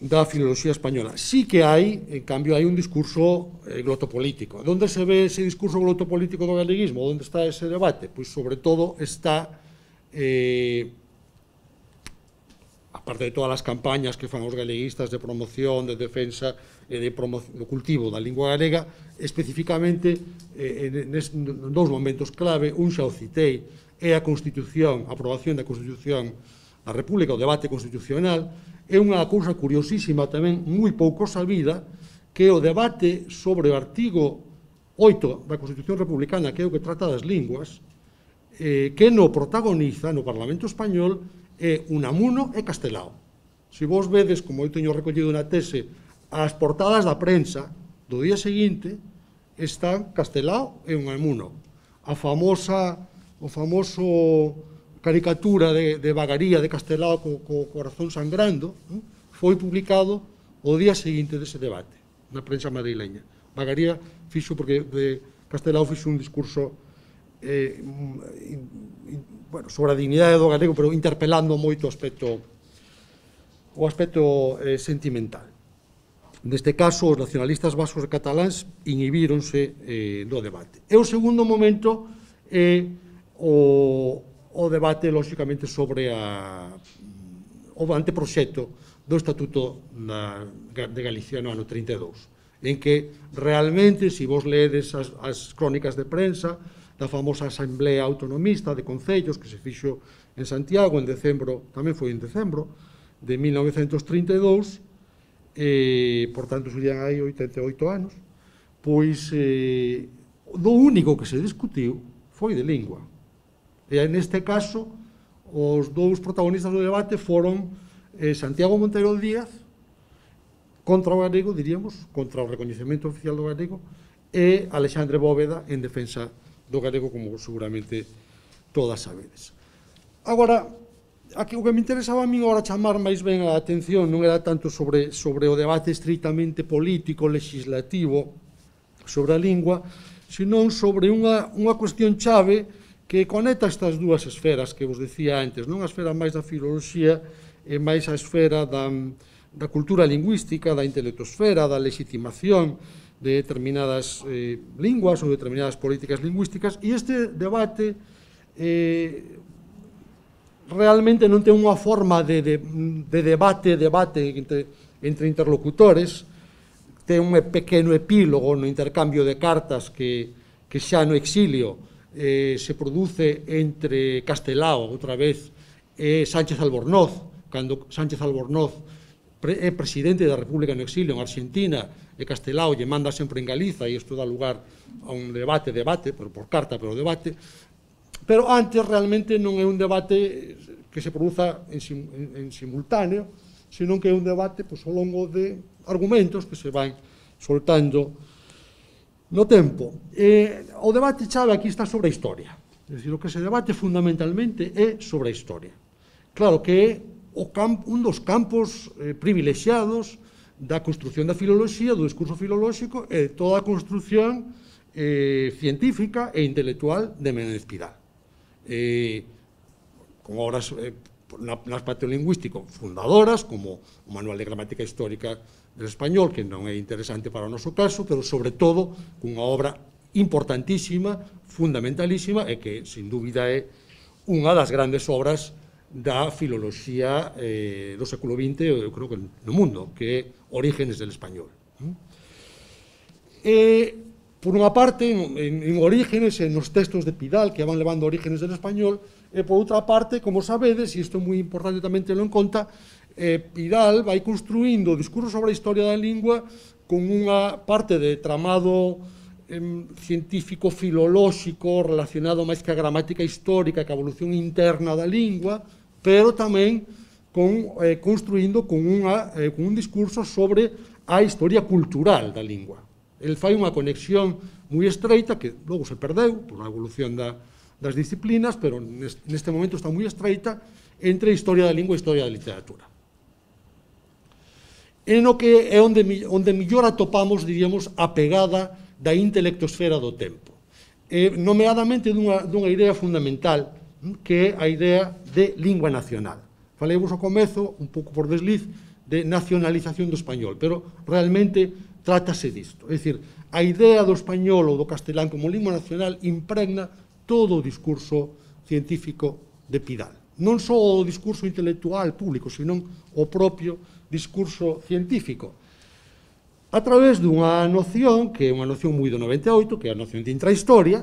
da filoloxía española. Sí que hai, en cambio, hai un discurso glotopolítico. Onde se ve ese discurso glotopolítico do galeguismo? Onde está ese debate? Pois, sobre todo, está aparte de todas as campañas que fan os galeguistas de promoción, de defensa e de do cultivo da lingua galega, especificamente en dous momentos clave, un xa o citei, é a Constitución, a aprobación da Constitución da República, o debate constitucional, é unha cousa curiosísima tamén, moi pouco sabida, que o debate sobre o artigo 8 da Constitución Republicana, que é o que trata das linguas, que no protagoniza no Parlamento Español é Unamuno e Castelao. Se vos vedes, como eu teño recollido na tese, as portadas da prensa do día seguinte están Castelao e Unamuno. O famoso caricatura de vagaría de Castelao co corazón sangrando foi publicado o día seguinte dese debate na prensa madrileña. Vagaría fixo porque Castelao fixo un discurso sobre a dignidade do galego, pero interpelando moito o aspecto sentimental. Neste caso, os nacionalistas vascos e cataláns inhibíronse do debate. E o segundo momento é o debate, lóxicamente, sobre o anteproxecto do Estatuto de Galicia no ano 32, en que realmente, se vos leedes as crónicas de prensa da famosa Asamblea Autonomista de Concellos que se fixo en Santiago en decembro, tamén foi en decembro de 1932, por tanto serían aí 88 anos, pois do único que se discutiu foi de lingua. E neste caso, os dous protagonistas do debate foron Santiago Monteiro Díaz, contra o galego, diríamos, contra o recoñecemento oficial do galego, e Alexandre Bóveda en defensa do galego, como seguramente todas sabedes. Agora, o que me interesaba a mí agora chamar máis ben a atención non era tanto sobre o debate estritamente político, legislativo, sobre a lingua, senón sobre unha cuestión chave que conecta estas dúas esferas que vos decía antes, non a esfera máis da filoloxía e máis a esfera da cultura lingüística, da intelectosfera, da legitimación de determinadas linguas ou determinadas políticas lingüísticas, e este debate realmente non ten unha forma de debate entre interlocutores, ten un pequeno epílogo no intercambio de cartas que xa no exilio se produce entre Castelao, outra vez, e Sánchez Albornoz, cando Sánchez Albornoz é presidente da República no exilio en Argentina, e Castelao lle manda sempre en Galiza, e isto dá lugar a un debate, pero por carta, pero debate. Pero antes realmente non é un debate que se produza en simultáneo, senón que é un debate ao longo de argumentos que se van soltando no tempo. O debate chave aquí está sobre a historia. É dicir, o que se debate fundamentalmente é sobre a historia. Claro que é un dos campos privilexiados da construción da filoloxía, do discurso filolóxico e de toda a construción científica e intelectual de Menéndez Pidal. Con obras no aspecto lingüístico fundadoras, como o Manual de Gramática Histórica del Español, que non é interesante para o noso caso, pero sobre todo cunha obra importantísima, fundamentalísima, e que, sin dúbida, é unha das grandes obras da filoloxía do século XX, eu creo que no mundo, que é Orígenes del Español. por unha parte, en Orígenes, nos textos de Pidal, que van levando Orígenes del español, e por outra parte, como sabedes, e isto é moi importante tamén telo en conta, Pidal vai construindo o discurso sobre a historia da lingua con unha parte de tramado científico filolóxico relacionado máis que a gramática histórica, que a evolución interna da lingua, pero tamén construindo con un discurso sobre a historia cultural da lingua. El fai unha conexión moi estreita, que logo se perdeu por a evolución das disciplinas, pero neste momento está moi estreita, entre historia da lingua e historia da literatura. É no que é onde mellor atopamos, diríamos, a pegada da intelectosfera do tempo. Nomeadamente dunha idea fundamental, que é a idea de lingua nacional. Faleivos ao comezo, un pouco por desliz, de nacionalización do español, pero realmente trátase disto. É dicir, a idea do español ou do castelán como lingua nacional impregna todo o discurso científico de Pidal. Non só o discurso intelectual público, senón o propio discurso científico. A través dunha noción, que é unha noción moi do 98, que é a noción de intrahistoria,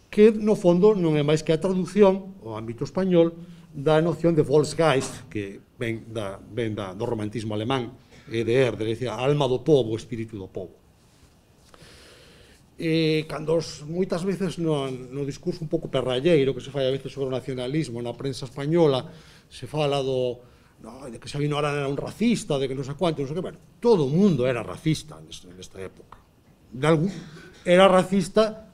que no fondo non é máis que a traducción, ao ámbito español, da noción de Volksgeist, que ven do romantismo alemán, de Herder, é dicir, a alma do povo, o espírito do povo. Cando moitas veces no discurso un pouco perralleiro que se fai a veces sobre o nacionalismo na prensa española, se fala de que Sabino Arana era un racista, de que non sei quanto, non sei que, bueno, todo o mundo era racista nesta época. Era racista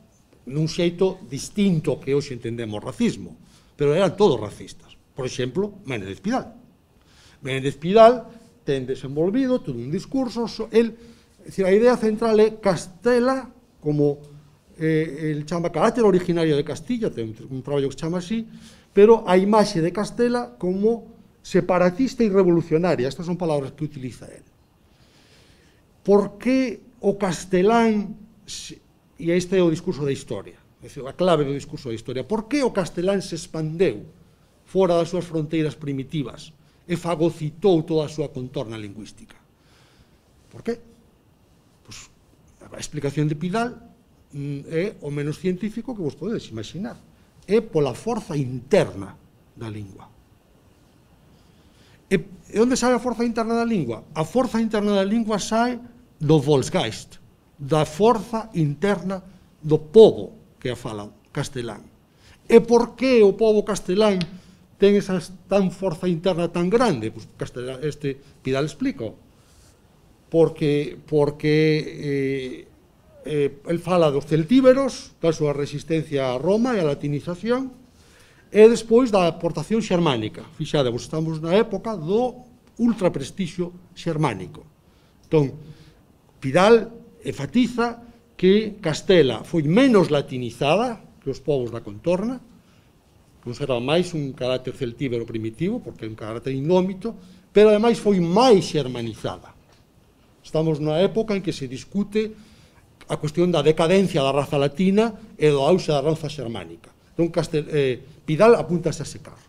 nun xeito distinto que hoxe entendemos racismo, pero eran todos racistas. Por exemplo, Menéndez Pidal. Menéndez Pidal ten desenvolvido todo un discurso, a idea central é Castela como el chama carácter originario de Castilla, ten un traballo que se chama así, pero a imaxe de Castela como separatista e revolucionaria. Estas son palabras que utiliza él. Por que o castelán, e este é o discurso da historia, a clave do discurso da historia, por que o castelán se expandeu fora das súas fronteiras primitivas e fagocitou toda a súa contorna lingüística? Por qué? Pois a explicación de Pidal é o menos científico que vos podedes imaginar. É pola forza interna da lingua. E onde sae a forza interna da lingua? A forza interna da lingua sae do Volksgeist, da forza interna do povo que a fala castelán. E por que o povo castelán ten esa tan forza interna tan grande? Pois Pidal explica. Porque el fala dos celtíberos, da súa resistencia a Roma e a latinización, e despois da aportación xermánica. Fixadevos, estamos na época do ultraprestixio xermánico. Entón, Pidal enfatiza que Castela foi menos latinizada que os povos da contorna, conserva máis un carácter celtíbero primitivo, porque é un carácter indómito, pero ademais foi máis xermanizada. Estamos na época en que se discute a cuestión da decadencia da raza latina e do auxe da raza xermánica. Entón, Pidal apuntase a ese carro.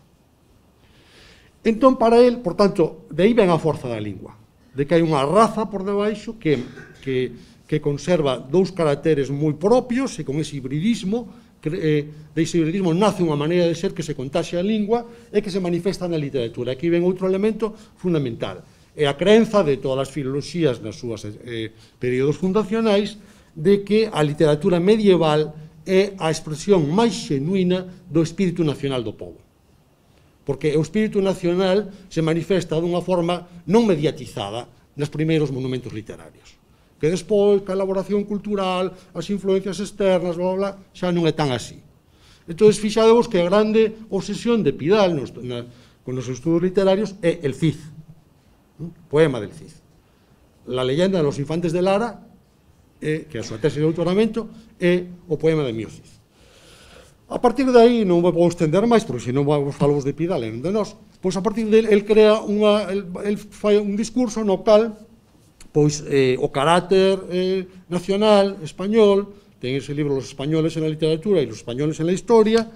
Entón, para él, por tanto, de aí ven a forza da lingua, de que hai unha raza por debaixo que conserva dous caracteres moi propios e con ese hibridismo, dese hibridismo nace unha maneira de ser que se contaxia a lingua e que se manifesta na literatura. Aquí ven outro elemento fundamental, é a creenza de todas as filoloxías nas súas períodos fundacionais de que a literatura medieval é a expresión máis xenuína do espírito nacional do povo. Porque o espírito nacional se manifesta dunha forma non mediatizada nos primeiros monumentos literarios. Que despois, que a elaboración cultural, as influencias externas, bla, bla, xa non é tan así. Entón, fixadevos que a grande obsesión de Pidal con os estudos literarios é el Cid, poema del Cid. La leyenda de los infantes de Lara, que é a súa tese de doutoramento, é o poema de Mio Cid. A partir de aí, non vou estender máis, porque senón vos falamos de Pidal e non de nós, pois a partir de ele crea un discurso no cal pois o carácter nacional español, ten ese libro Los españoles en la literatura e los españoles en la historia,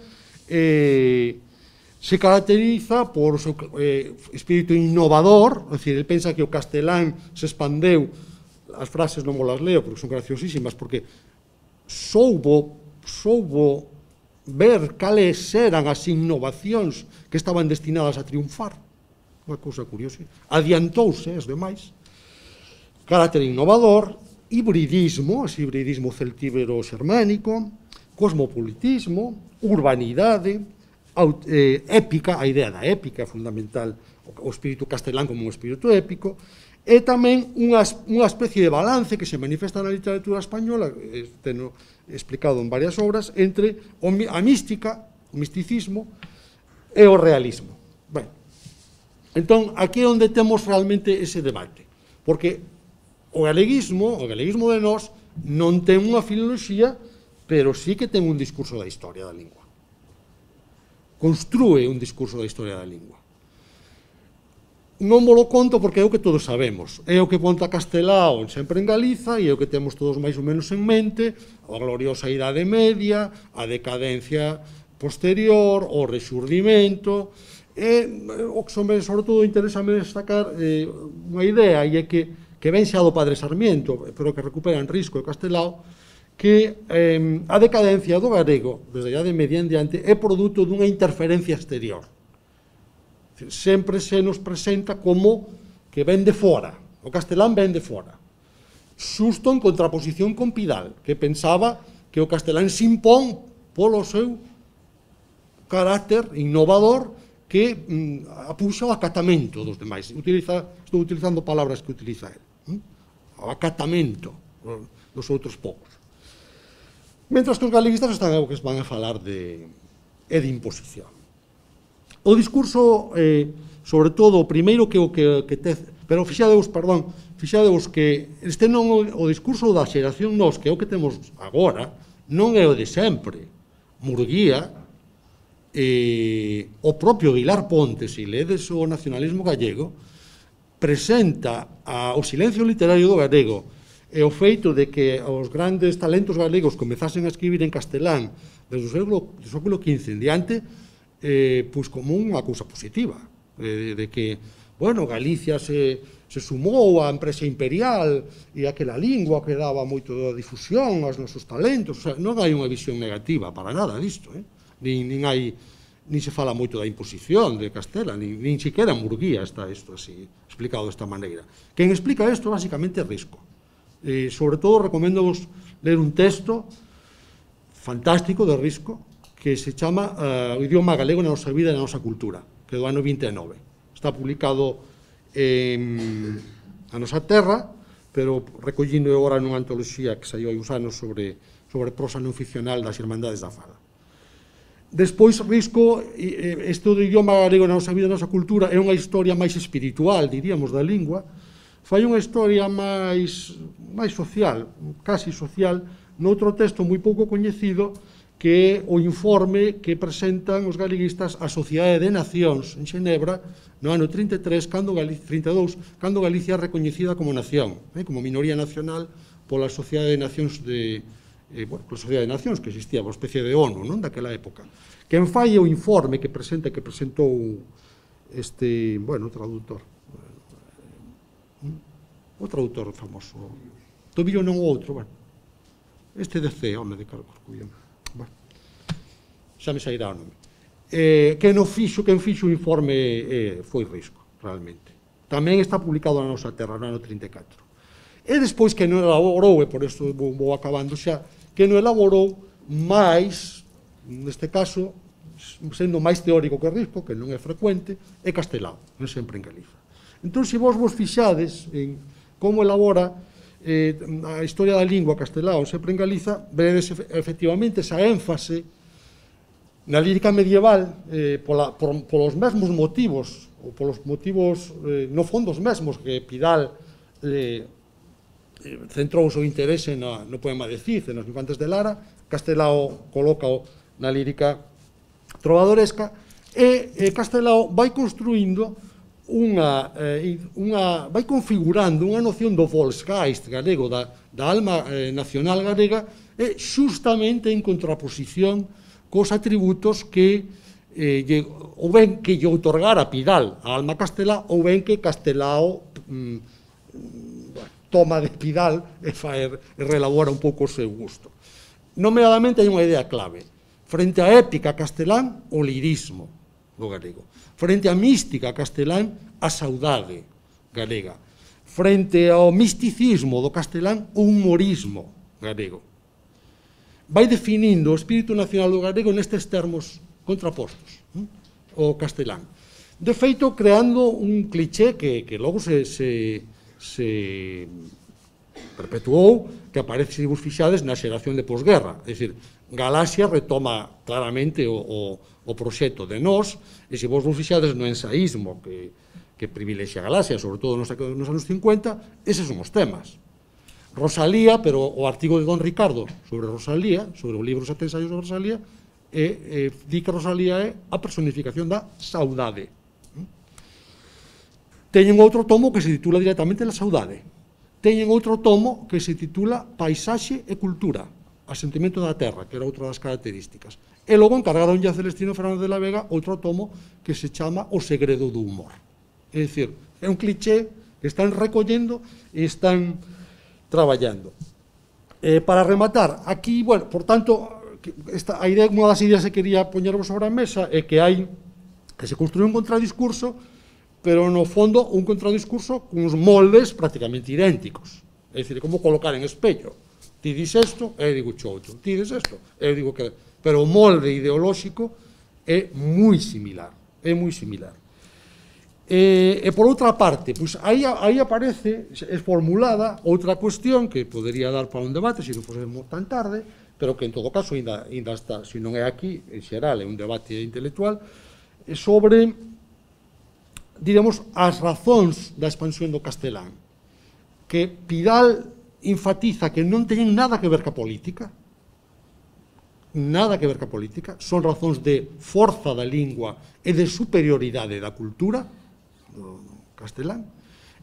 se caracteriza por o seu espírito innovador, é dicir, ele pensa que o castelán se expandeu, as frases non vos las leo porque son graciosísimas, porque soubo ver cales eran as innovacións que estaban destinadas a triunfar, unha cousa curiosa, adiantouse as demais, carácter innovador, hibridismo, ese hibridismo celtíbero-xermánico, cosmopolitismo, urbanidade, épica, a idea da épica é fundamental, o espírito castelán como un espírito épico, e tamén unha especie de balance que se manifesta na literatura española, teno explicado en varias obras, entre a mística, o misticismo e o realismo. Ben, entón, aquí é onde temos realmente ese debate, porque o galeguismo de nós non ten unha filoloxía, pero sí que ten un discurso da historia da lingua. Construe un discurso da historia da lingua. Non mo lo conto porque é o que todos sabemos. É o que conta Castelao sempre en Galiza e é o que temos todos máis ou menos en mente, a gloriosa Idade Media, a decadencia posterior, o rexurdimento, e o que sobre todo interésame destacar unha idea, e é que ven xa do padre Sarmiento, pero que recuperan Risco e Castelao, que a decadencia do galego, desde a Idade Media en diante, é produto dunha interferencia exterior. Sempre se nos presenta como que ven de fora, o castelán ven de fora, xusto en contraposición con Pidal, que pensaba que o castelán se impón polo seu carácter innovador que apuxa o acatamento dos demais. Estou utilizando palabras que utiliza el, o acatamento dos outros poucos. Mentras que os galeguistas están o que van a falar de imposición. O discurso, sobre todo, o primeiro que pero fixadevos que este non o discurso da xeración nós, que é o que temos agora, non é o de sempre. Murguía, o propio Vilar Pontes, se ledes o nacionalismo gallego, presenta o silencio literario do galego e o feito de que os grandes talentos galegos comezasen a escribir en castelán desde o século XV en diante, pois como unha cousa positiva, de que, bueno, Galicia se sumou á empresa imperial e aquela lingua que daba moito da difusión aos nosos talentos. O sea, non hai unha visión negativa para nada disto, nin se fala moito da imposición de Castela, nin siquiera en Murguía está isto así, explicado desta maneira. Quen explica isto, basicamente, é Risco. Sobre todo, recomendo-vos ler un texto fantástico de Risco, que se chama O idioma galego na nosa vida e na nosa cultura, que é do ano 29. Está publicado a nosa terra, pero recollindo agora nunha antoloxía que saiu hai uns anos sobre prosa non ficcional das Irmandades da Fala. Despois, Risco, este do idioma galego na nosa vida e na nosa cultura é unha historia máis espiritual, diríamos, da lingua, fai unha historia máis social, casi social, noutro texto moi pouco coñecido, que é o informe que presentan os galeguistas á Sociedade de Nacións en Xenebra no ano 32, cando Galicia é recoñecida como nación, como minoría nacional pola Sociedade de Nacións pola Sociedade de Nacións que existía, unha especie de ONU, non, daquela época. Quen fai o informe que presentou o traductor famoso, Tobillo non o outro, este de C, home de Carlos Cullón, xa me sairá o nome. Quen fixo o informe foi Risco, realmente. Tamén está publicado na nosa terra, no ano 34. E despois que non elaborou, e por isto vou acabando xa, que non elaborou máis, neste caso, sendo máis teórico que Risco, que non é frecuente, é Castelao, non sempre en Galiza. Entón, se vos fixades en como elabora a historia da lingua Castelao sempre en Galiza, veredes efectivamente esa énfase na lírica medieval polos mesmos motivos, ou polos motivos no fondo os mesmos que Pidal centrou o seu interese no poema de Cid, nos Infantes de Lara, Castelao coloca na lírica trovadoresca, e Castelao vai construindo vai configurando unha noción do Volksgeist galego, da alma nacional galega, e xustamente en contraposición cos atributos que ou ben que lle outorgara Pidal a alma castelá, ou ben que Castelao toma de Pidal e relabora un pouco o seu gusto. nomeadamente hai unha idea clave. Frente á épica castelán, o lirismo do galego. Frente á mística castelán, a saudade galega. Frente ao misticismo do castelán, o humorismo galego. Vai definindo o espírito nacional do galego nestes termos contrapostos, o castelán. De feito, creando un cliché que logo se perpetuou, que aparece, se vos fixades, na xeración de posguerra. É dicir, Galaxia retoma claramente o proxecto de Nós, e se vos fixades no ensaísmo que privilexia Galaxia, sobre todo nos anos 50, eses son os temas. Rosalía, pero o artigo de Don Ricardo sobre Rosalía, sobre o libro 7 ensaios sobre Rosalía, di que Rosalía é a personificación da saudade. Teñen outro tomo que se titula directamente La saudade. Teñen outro tomo que se titula Paisaxe e cultura, Asentimento da terra, que era outra das características. E logo encargaronlle a Celestino Fernández de la Vega outro tomo que se chama O segredo do humor. É dicir, é un cliché que están recollendo e están traballando. Para rematar, aquí, bueno, por tanto, a idea, unha das ideas que quería poñervos sobre a mesa é que se construye un contradiscurso, pero no fondo un contradiscurso con uns moldes prácticamente idénticos. É dicir, como colocar en espello. Ti dis isto, eu digo outro. Ti dis isto, eu digo que... Pero o molde ideolóxico é moi similar. É moi similar. E por outra parte, pois aí aparece, é formulada outra cuestión que podería dar para un debate, se non fosemos tan tarde, pero que en todo caso ainda está, se non é aquí, en xeral, é un debate intelectual, sobre, diremos, as razóns da expansión do castelán, que Pidal enfatiza que non teñen nada que ver ca política, son razóns de forza da lingua e de superioridade da cultura, do castelán,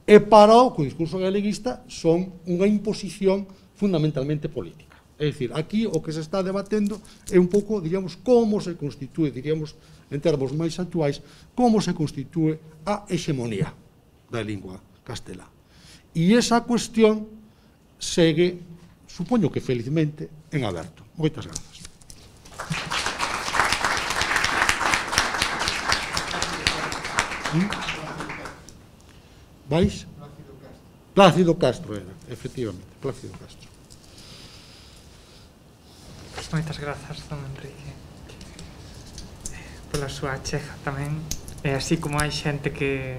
e para o discurso galeguista son unha imposición fundamentalmente política. É dicir, aquí o que se está debatendo é un pouco, diríamos, como se constitúe, diríamos, en termos máis actuais, como se constitúe a hexemonía da lingua castelá. E esa cuestión segue, supoño que felizmente, en aberto. Moitas grazas. Vais? Plácido Castro era, efectivamente, Plácido Castro. Moitas grazas, don Enrique, pola súa achega tamén. E así como hai xente que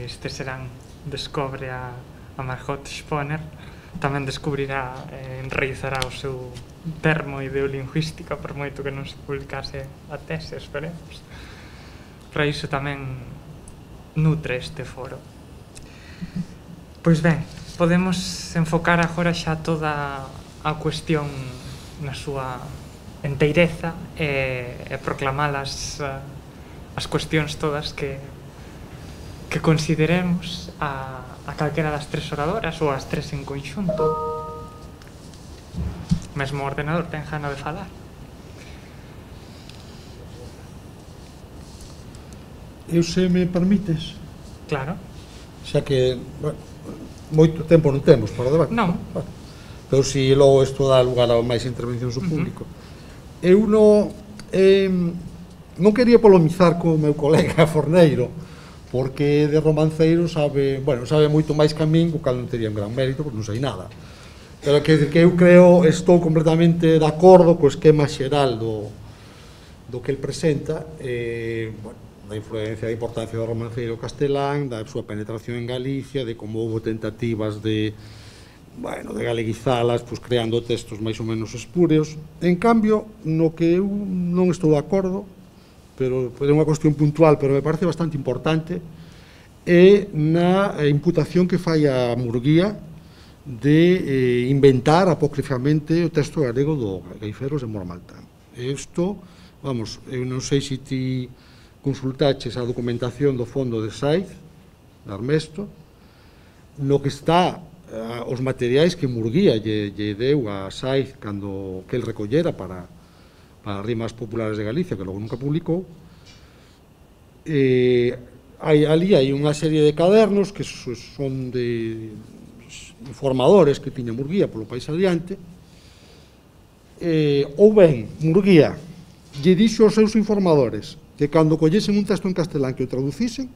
este serán descobre a Margot Sponer, tamén descubrirá e enraizará o seu termo ideolingüística, por moito que non se publicase a tese, esperemos. Para iso tamén nutre este foro. Pois ben, podemos enfocar agora xa toda a cuestión na súa enteireza e proclamalas as cuestións todas que consideremos a calquera das tres oradoras ou as tres en conxunto. Mesmo o ordenador ten gana de falar. Eu, se me permites, Claro. xa que moito tempo non temos para o debate. Non. Pero se logo isto dá lugar a máis intervencións do público. Eu non quería polemizar co meu colega Forneiro, porque de romanceiro sabe moito máis que a min, o cal non tería un gran mérito, porque non sei nada. Pero que eu creo, estou completamente de acordo co esquema xeral do que el presenta, da influencia, da importancia do romanceiro castelán, da súa penetración en Galicia, de como houve tentativas de galeguizalas, pois creando textos máis ou menos espúreos. En cambio, no que eu non estou de acordo, pero é unha cuestión puntual, pero me parece bastante importante, é na imputación que fai a Murguía de inventar apócrifamente o texto galego do Gaiferos de Mormaltán. Isto, vamos, eu non sei se ti consultaches a documentación do fondo de Saiz, de Armesto, no que está os materiais que Murguía lle deu a Saiz cando que el recollera para rimas populares de Galicia, que logo nunca publicou. Ali hai unha serie de cadernos que son de informadores que tiña Murguía polo país adiante, ou ben, Murguía lle dixo aos seus informadores que cando collesen un texto en castelán que o traducisen,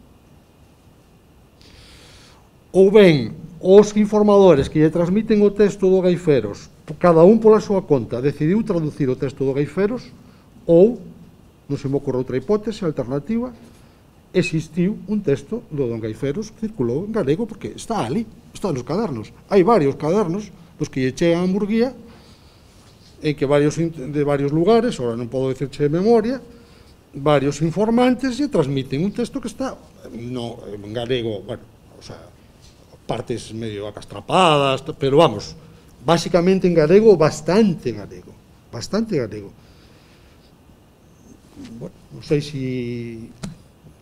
ou ben, os informadores que lle transmiten o texto do Gaiferos, cada un pola súa conta, decidiu traducir o texto do Gaiferos, ou, non se me ocorre outra hipótese alternativa, existiu un texto do Don Gaiferos que circulou en galego, porque está ali, está nos cadernos. Hai varios cadernos dos que lle chegan a Murguía, en que de varios lugares, ahora non podo dicirche de memoria, varios informantes lle transmiten un texto que está en galego, bueno, o sea, partes medio acastrapadas, pero vamos, básicamente en galego, bastante galego. Bueno, non sei se...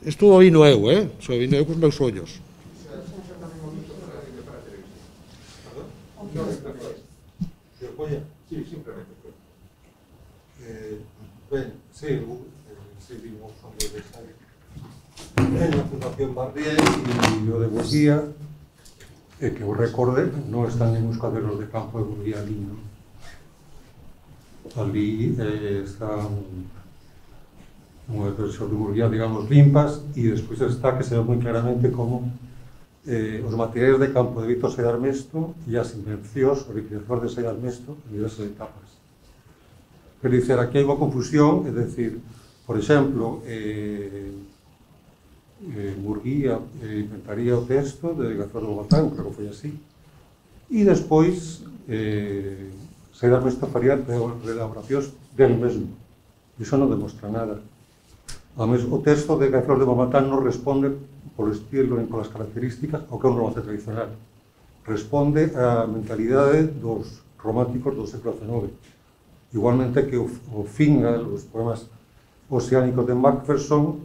Isto o vino eu, Só vino eu cos meus ollos. Sí, simplemente. Ben, sí, vimos en la Fundación Barrié e o de Murguía, que os recorde, non están en os cadernos de campo de Murguía ali, non? Ali están unhas versións de Murguía, digamos, limpas, e despois está que se ve moi claramente como os materiais de campo de Víctor Saiz Armesto e as invencións, o liquidador de Saiz Armesto en diversas etapas. Quero dizer, aquí hai unha confusión, é dicir, por exemplo, Murguía inventaría o texto de Gazor do Batán, creo que foi así, e despois Saiz Armesto faría elaboracións del mesmo. Iso non demostra nada. O texto de Gazor de Bomatán non responde polo estilo e polas características ao que é un romance tradicional. Responde á mentalidade dos románticos do século XIX. Igualmente que o Fingal, os poemas oceánicos de Macpherson,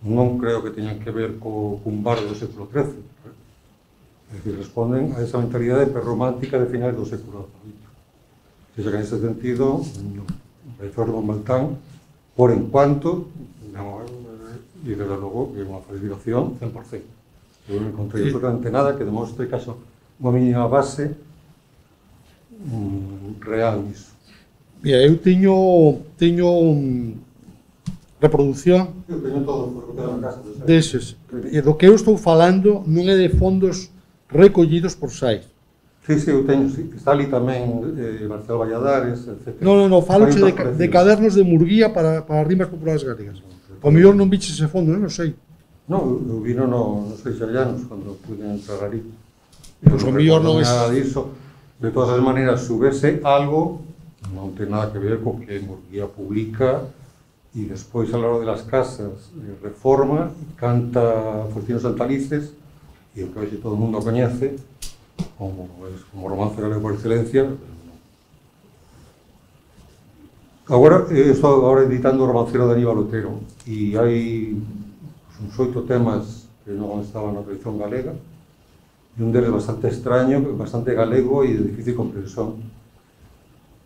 non creo que teñan que ver cun bardo do século XIII. É dicir, responden a esa mentalidade prerromántica de finais do século XVIII. Que en ese sentido, Gazor de Bomatán, por enquanto, e desde logo é unha falsificación 100%. Eu non encontrei absolutamente nada que demostre que haxa unha mínima base real nisso. Mira, eu teño reproducción deses. E do que eu estou falando non é de fondos recollidos por Saiz. Sí, eu teño, sí. Está ali tamén Marcelo Valladares, etc. Non, faloche de cadernos de Murguía para rimas populares galegas. O mellor non biches ese fondo, non sei. Non, eu vino nos Seixallanos, cando pude entrar ali. Pois o mellor non é... Nada disso. De todas as maneiras, subese algo, non ten nada que ver co que Murguía publica, e despois, a la hora de las casas, reforma, canta Faustino Santalices, e o que hoxe todo o mundo coñece, como romance galego por excelencia. Agora, estou editando o romancero de Aníbal Otero, e hai uns 8 temas que non estaban na tradición galega, e un deles bastante extraño, bastante galego e de difícil comprensión.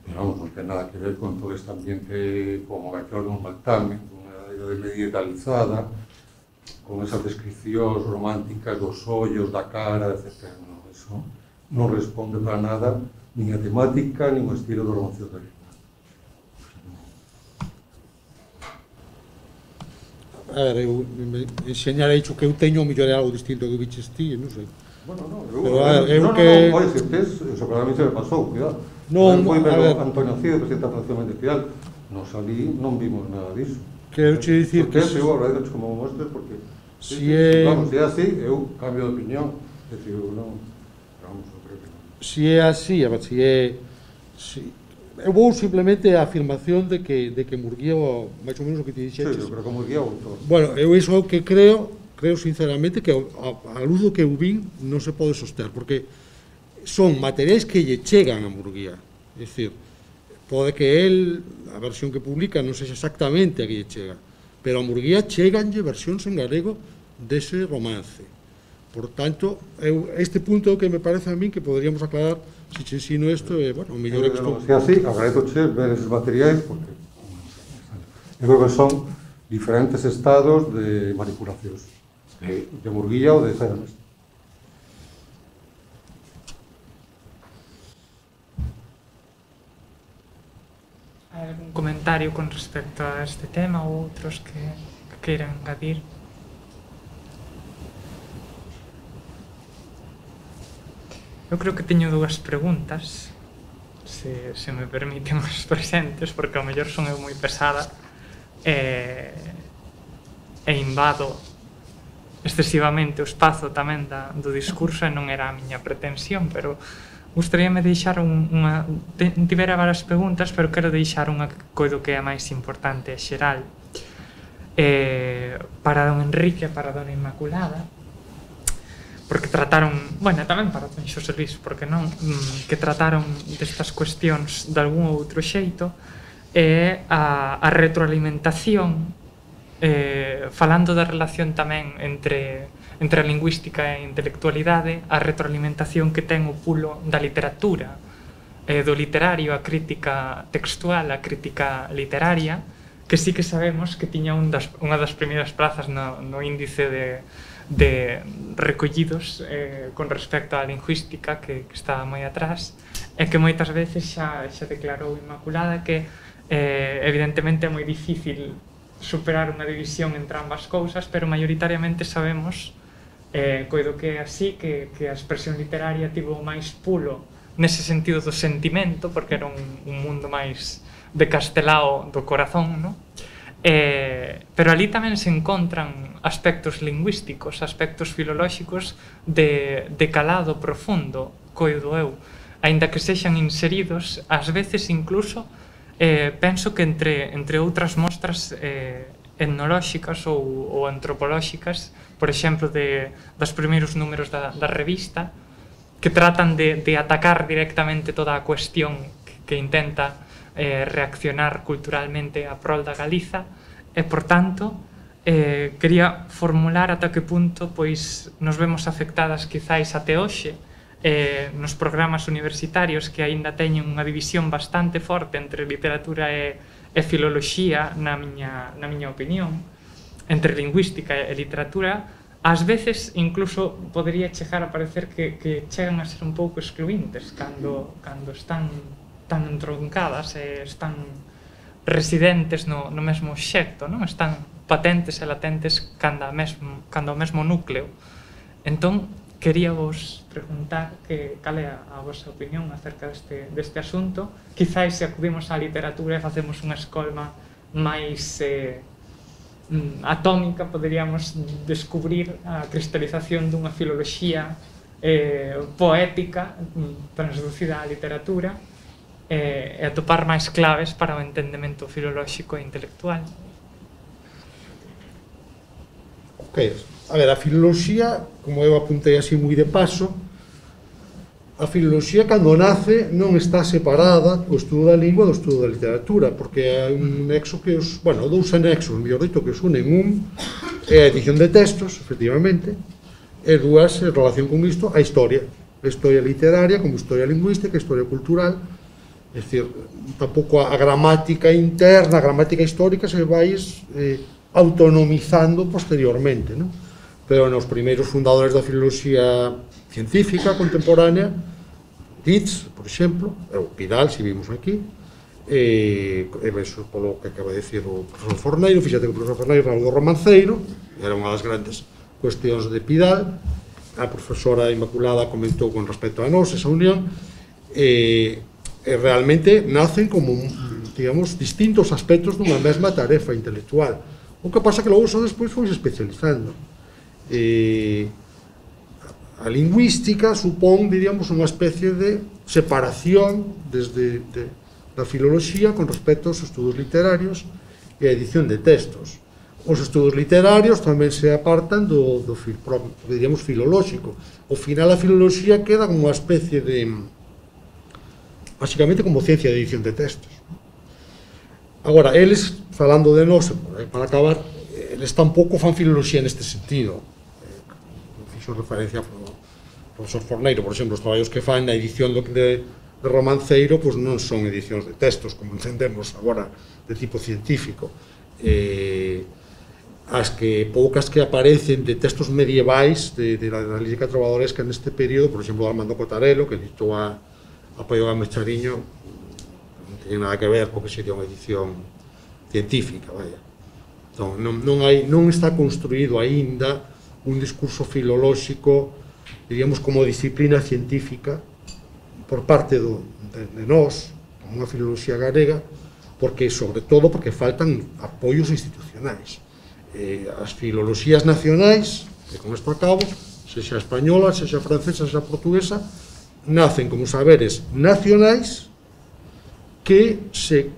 Pero vamos, non ten nada que ver con todo este ambiente como Gazor de Bomatán, con unha idade medietalizada, con esas descripcións románticas dos ollos, da cara, etc. No, eso non responde para nada nin a temática, nin o estilo do romancero de Aníbal. A ver, eu enseñarei o que eu teño, o mellor é algo distinto que viches ti, non sei. Bueno, eu que... Non, pode ser, eso claramente se me pasou, cuidado. Non, foi a ver... Antonio Cid, presidente da Fundación Mendefial, nos ali non vimos nada diso. Quero che dicir que... Eu agradezco como mostres, porque... Vamos, se é así, eu cambio de opinión. É dicir, eu non... Vamos, eu creo que non. Se é así, a ver, se é... Eu vou simplemente a afirmación de que Murguía, máis ou menos o que te dixeches... Sí, eu creo que Murguía o autor. Bueno, eu iso é o que creo sinceramente que a luz do que eu vin non se pode soster, porque son materiais que lle chegan a Murguía. É dicir, pode que el, a versión que publica, non sexa exactamente a que lle chega, pero a Murguía cheganlle versións en galego dese romance. Por tanto, este punto que me parece a min que poderíamos aclarar se che ensino isto, bueno, o mellor é que estou... Se así, agradezoche ver esos materiais, porque eu creo que son diferentes estados de manipulacións. De Murguía ou de Saiz Armesto. algún comentario con respecto a este tema ou outros que queiran engadir? Eu creo que teño dúas preguntas, se me permiten os presentes, porque ao mellor son eu moi pesada e invado excesivamente o espazo tamén do discurso, e non era a miña pretensión, pero gustaríame deixar unha... Tivera varias preguntas, pero quero deixar unha que coido que é a máis importante e xeral para don Enrique e para dona Inmaculada, porque trataron, bueno, tamén para don Xosé Luís, porque non, que trataron destas cuestións de algún outro xeito, é a retroalimentación, falando da relación tamén entre a lingüística e a intelectualidade, a retroalimentación que ten o pulo da literatura, do literario, a crítica textual, a crítica literaria, que sí que sabemos que tiña unha das primeiras prazas no índice de recollidos con respecto á lingüística, que estaba moi atrás, e que moitas veces xa declarou Inmaculada que evidentemente é moi difícil superar unha división entre ambas cousas, pero maioritariamente sabemos, coido que é así, que a expresión literaria tivo máis pulo nese sentido do sentimento, porque era un mundo máis de castelao do corazón, non? Pero ali tamén se encontran aspectos lingüísticos, aspectos filolóxicos de calado profundo, coido eu, aínda que sexan inseridos, ás veces incluso penso que entre outras mostras etnolóxicas ou antropolóxicas, por exemplo, dos primeiros números da revista, que tratan de atacar directamente toda a cuestión que intenta reaccionar culturalmente a prol da Galiza, e, por tanto, quería formular ata que punto pois nos vemos afectadas quizáis até hoxe nos programas universitarios que aínda teñen unha división bastante forte entre literatura e filoloxía, na miña opinión, entre lingüística e literatura, ás veces incluso podría chegar a parecer que chegan a ser un pouco excluíntes cando están tan entroncadas e están residentes no mesmo xecto, non? Están patentes e latentes cando ao mesmo núcleo. Entón, quería vos preguntar cal é a vosa opinión acerca deste asunto. Quizáis se acudimos á literatura e facemos unha escolma máis atómica, poderíamos descubrir a cristalización dunha filoloxía poética transducida á literatura e atopar máis claves para o entendemento filolóxico e intelectual. Ok. A ver, a filoloxía, como eu apuntei así moi de paso, a filoloxía cando nace non está separada o estudo da lingua do estudo da literatura, porque hai un nexo que os, bueno, dous anexos, mellor dito, que os unen. Un é a edición de textos, efectivamente, e dúas, en relación con isto, a historia literaria, como historia lingüística, historia cultural, é dicir, tampouco a gramática interna, a gramática histórica se vai autonomizando posteriormente, non? Pero nos primeiros fundadores da filoloxía científica contemporánea, Dietz, por exemplo, o Pidal, se vimos aquí, e eso polo que acaba de dicir o profesor Forneiro, fíxate que o profesor Forneiro era o do romanceiro, era unha das grandes cuestións de Pidal, a profesora Inmaculada comentou con respecto a nós esa unión, e realmente nacen como, digamos, distintos aspectos dunha mesma tarefa intelectual. O que pasa que logo só despois foi especializando. A lingüística supón, diríamos, unha especie de separación desde da filoloxía con respecto aos estudos literarios e a edición de textos. Os estudos literarios tamén se apartan do diríamos, filolóxico. Ao final a filoloxía queda como unha especie de, basicamente, como ciencia de edición de textos. Agora, eles, falando de nós, para acabar, eles tampouco fan filoloxía neste sentido. Fixo referencia ao profesor Forneiro, por exemplo, os traballos que fan na edición de romanceiro, pois non son edicións de textos, como entendemos agora, de tipo científico. As que poucas que aparecen de textos medievais da lírica trovadoresca neste período, por exemplo, Armando Cotarelo, que editou a Paio Gámez Chariño, que ten nada que ver co que sería unha edición científica, vaya. Entón, non está construído aínda un discurso filolóxico, diríamos, como disciplina científica por parte de nós, como unha filoloxía galega, porque, sobre todo, porque faltan apoios institucionais. As filoloxías nacionais, que con isto acabo, sexa española, sexa francesa, sexa portuguesa, nacen como saberes nacionais que se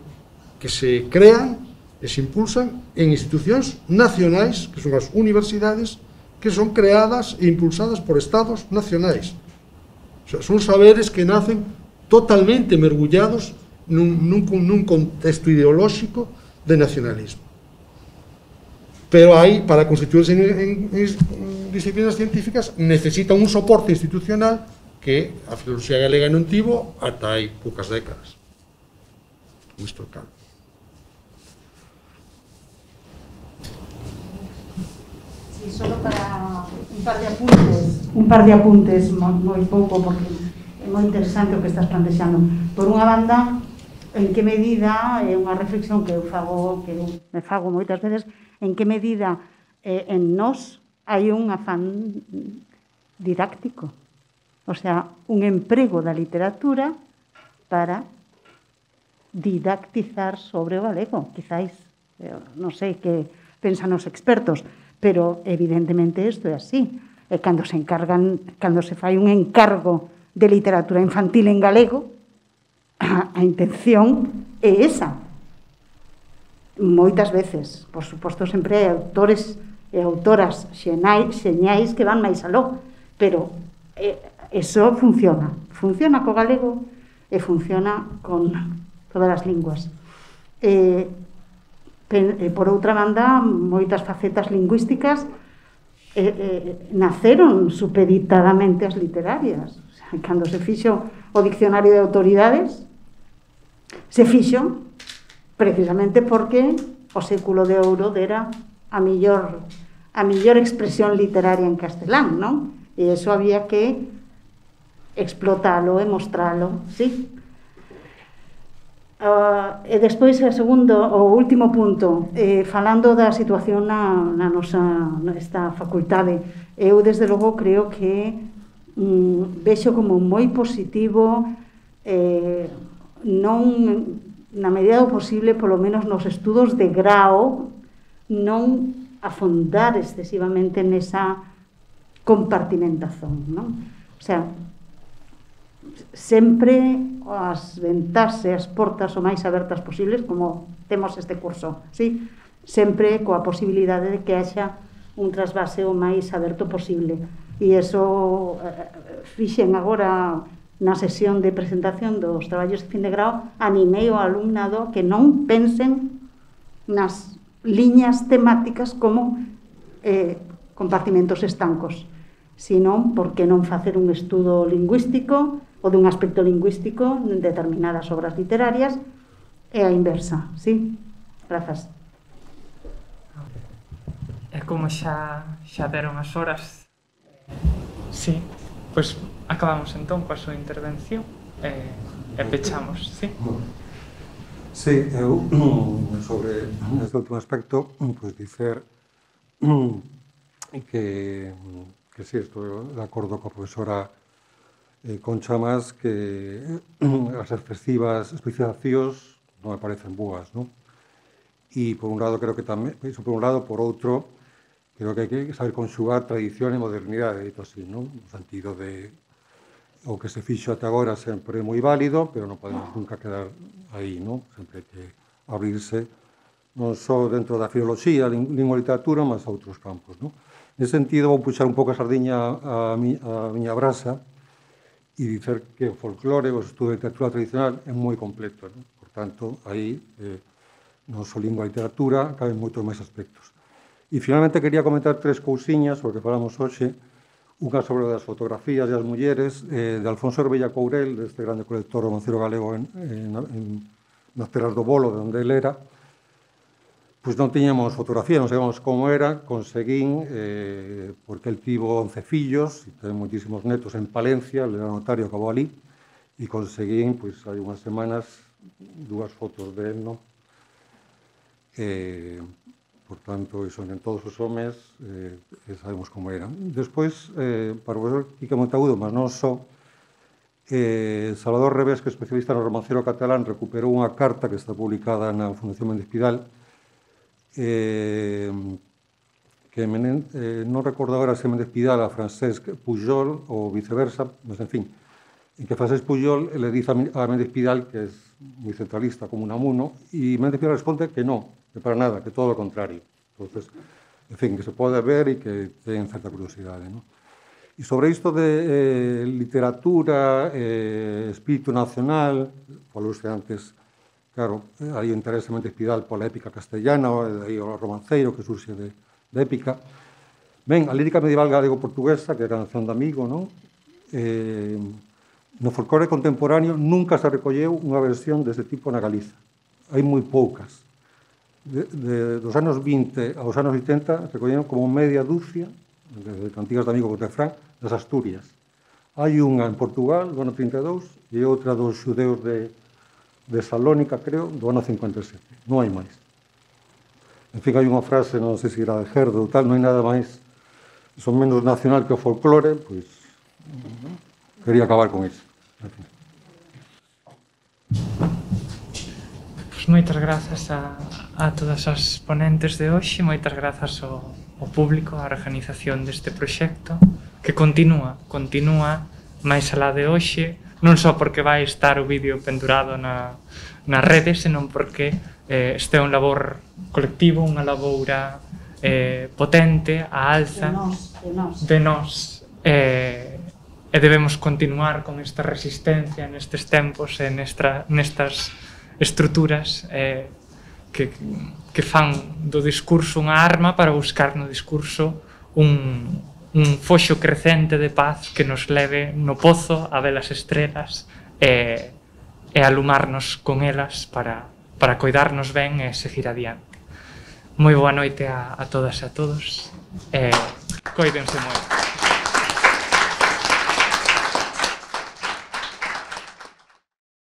crean e se impulsan en institucións nacionais, que son as universidades, que son creadas e impulsadas por estados nacionais. O sea, son saberes que nacen totalmente mergullados nun contexto ideolóxico de nacionalismo. Pero aí, para constituirse en disciplinas científicas, necesitan un soporte institucional que a filoloxía galega non tivo ata hai poucas décadas. Isto é claro. Sí, solo para un par de apuntes moi pouco, porque é moi interesante o que estás plantexando. Por unha banda, en que medida, é unha reflexión que eu me fago moitas veces, en que medida en nós hai un afán didáctico, o sea, un emprego da literatura para didactizar sobre o galego, quizáis, non sei que pensan os expertos, pero evidentemente isto é así. E cando se fai un encargo de literatura infantil en galego, a intención é esa. Moitas veces, por suposto, sempre hai autores e autoras xeñais que van máis aló, pero eso funciona co galego e funciona con todas as linguas. Por outra banda, moitas facetas lingüísticas naceron supeditadamente as literarias. Cando se fixo o Diccionario de Autoridades, se fixo precisamente porque o século de ouro dera a mellor expresión literaria en castelán, non? E iso había que explotalo e mostralo, sí? E despois, o último punto, falando da situación na esta facultade, eu desde logo creo que vexo como moi positivo, non, na medida do posible, polo menos nos estudos de grao, non afondar excesivamente nesa compartimentación, non? O sea, sempre as ventás e as portas o máis abertas posibles, como temos este curso, sí? Sempre coa posibilidade de que haxa un trasvase o máis aberto posible. E iso fixen agora na sesión de presentación dos traballos de fin de grao, animei o alumnado que non pensen nas liñas temáticas como compartimentos estancos, sino porque non facer un estudo lingüístico ou dun aspecto lingüístico en determinadas obras literarias e a inversa, sí? Grazas. E como xa deron as horas, sí, pois acabamos entón coa súa intervención e pechamos, sí? Sí, eu sobre este último aspecto, pois dicer que sí, estou de acordo coa profesora Concha Mas, que as excesivas especializacións non me parecen boas, non? E por un lado creo que tamén, iso por un lado, por outro, creo que hai que saber conxugar tradición e modernidade, dito así, non? No sentido de o que se fixo ata agora sempre moi válido, pero non podemos nunca quedar aí, non? Sempre hai que abrirse non só dentro da filoloxía, lingua e literatura, mas a outros campos, non? Nese sentido, vou puxar un pouco a sardiña a miña brasa e dicer que o folclore, o estudo de literatura tradicional é moi completo, non? Por tanto, aí, non só lingua e literatura, caben moitos máis aspectos. E, finalmente, quería comentar 3 cousiñas sobre o que falamos hoxe. Unha sobre as fotografías e as mulleres de Alfonso Herbella Courel, deste grande colector romancero galego nas terras do Bolo, de onde ele era. Pois non tiñamos fotografía, non sabíamos como era, conseguín, porque el tivo 11 fillos, e ten moitísimos netos en Palencia, ele era notario, acabou ali, e conseguín, pois, hai unhas semanas, dúas fotos de él, non? Por tanto, iso en todos os homes sabemos como eran. Despois, para o profesor Quique Monteagudo, mas non só, Salvador Revés, que é especialista no romancero catalán, recuperou unha carta que está publicada na Fundación Méndez Pidal, que non recordo agora se Méndez Pidal a Francesc Pujol ou viceversa, mas en fin, en que Francesc Pujol le dice a Méndez Pidal que é moi centralista como Unamuno, e Méndez Pidal responde que non, que para nada, que todo o contrario. Entonces, en fin, que se pode ver e que ten certa curiosidade, non? E sobre isto de literatura, espírito nacional, falouse antes, claro, hai o interese Méndez Pidal pola épica castellana, aí o romanceiro que surxe de épica. Ben, a lírica medieval galego-portuguesa, que é a canción de amigo, non? No folclore contemporáneo nunca se recolleu unha versión deste tipo na Galiza. Hai moi poucas. Dos anos 20 aos anos 80 recolleron como media dúcia de cantigas de amigo Cotefrán das Asturias. Hai unha en Portugal do ano 32 e outra dos xudeus de Salónica, creo, do ano 57. Non hai máis. En fin, hai unha frase, non sei se era de Gerdo ou tal, non hai nada máis, son menos nacional que o folclore, pois quería acabar con iso. Pois moitas grazas a todas as ponentes de hoxe, moitas grazas ao público, á organización deste proxecto, que continúa máis alá de hoxe, non só porque vai estar o vídeo pendurado nas redes, senón porque este é un labor colectivo, unha laboura potente, a alza de nós, e debemos continuar con esta resistencia nestes tempos e nestas estruturas que fan do discurso unha arma para buscar no discurso un foxo crecente de paz que nos leve no pozo a ver as estrelas e alumarnos con elas para coidarnos ben e seguir adiante. Moi boa noite a todas e a todos e coídense moito.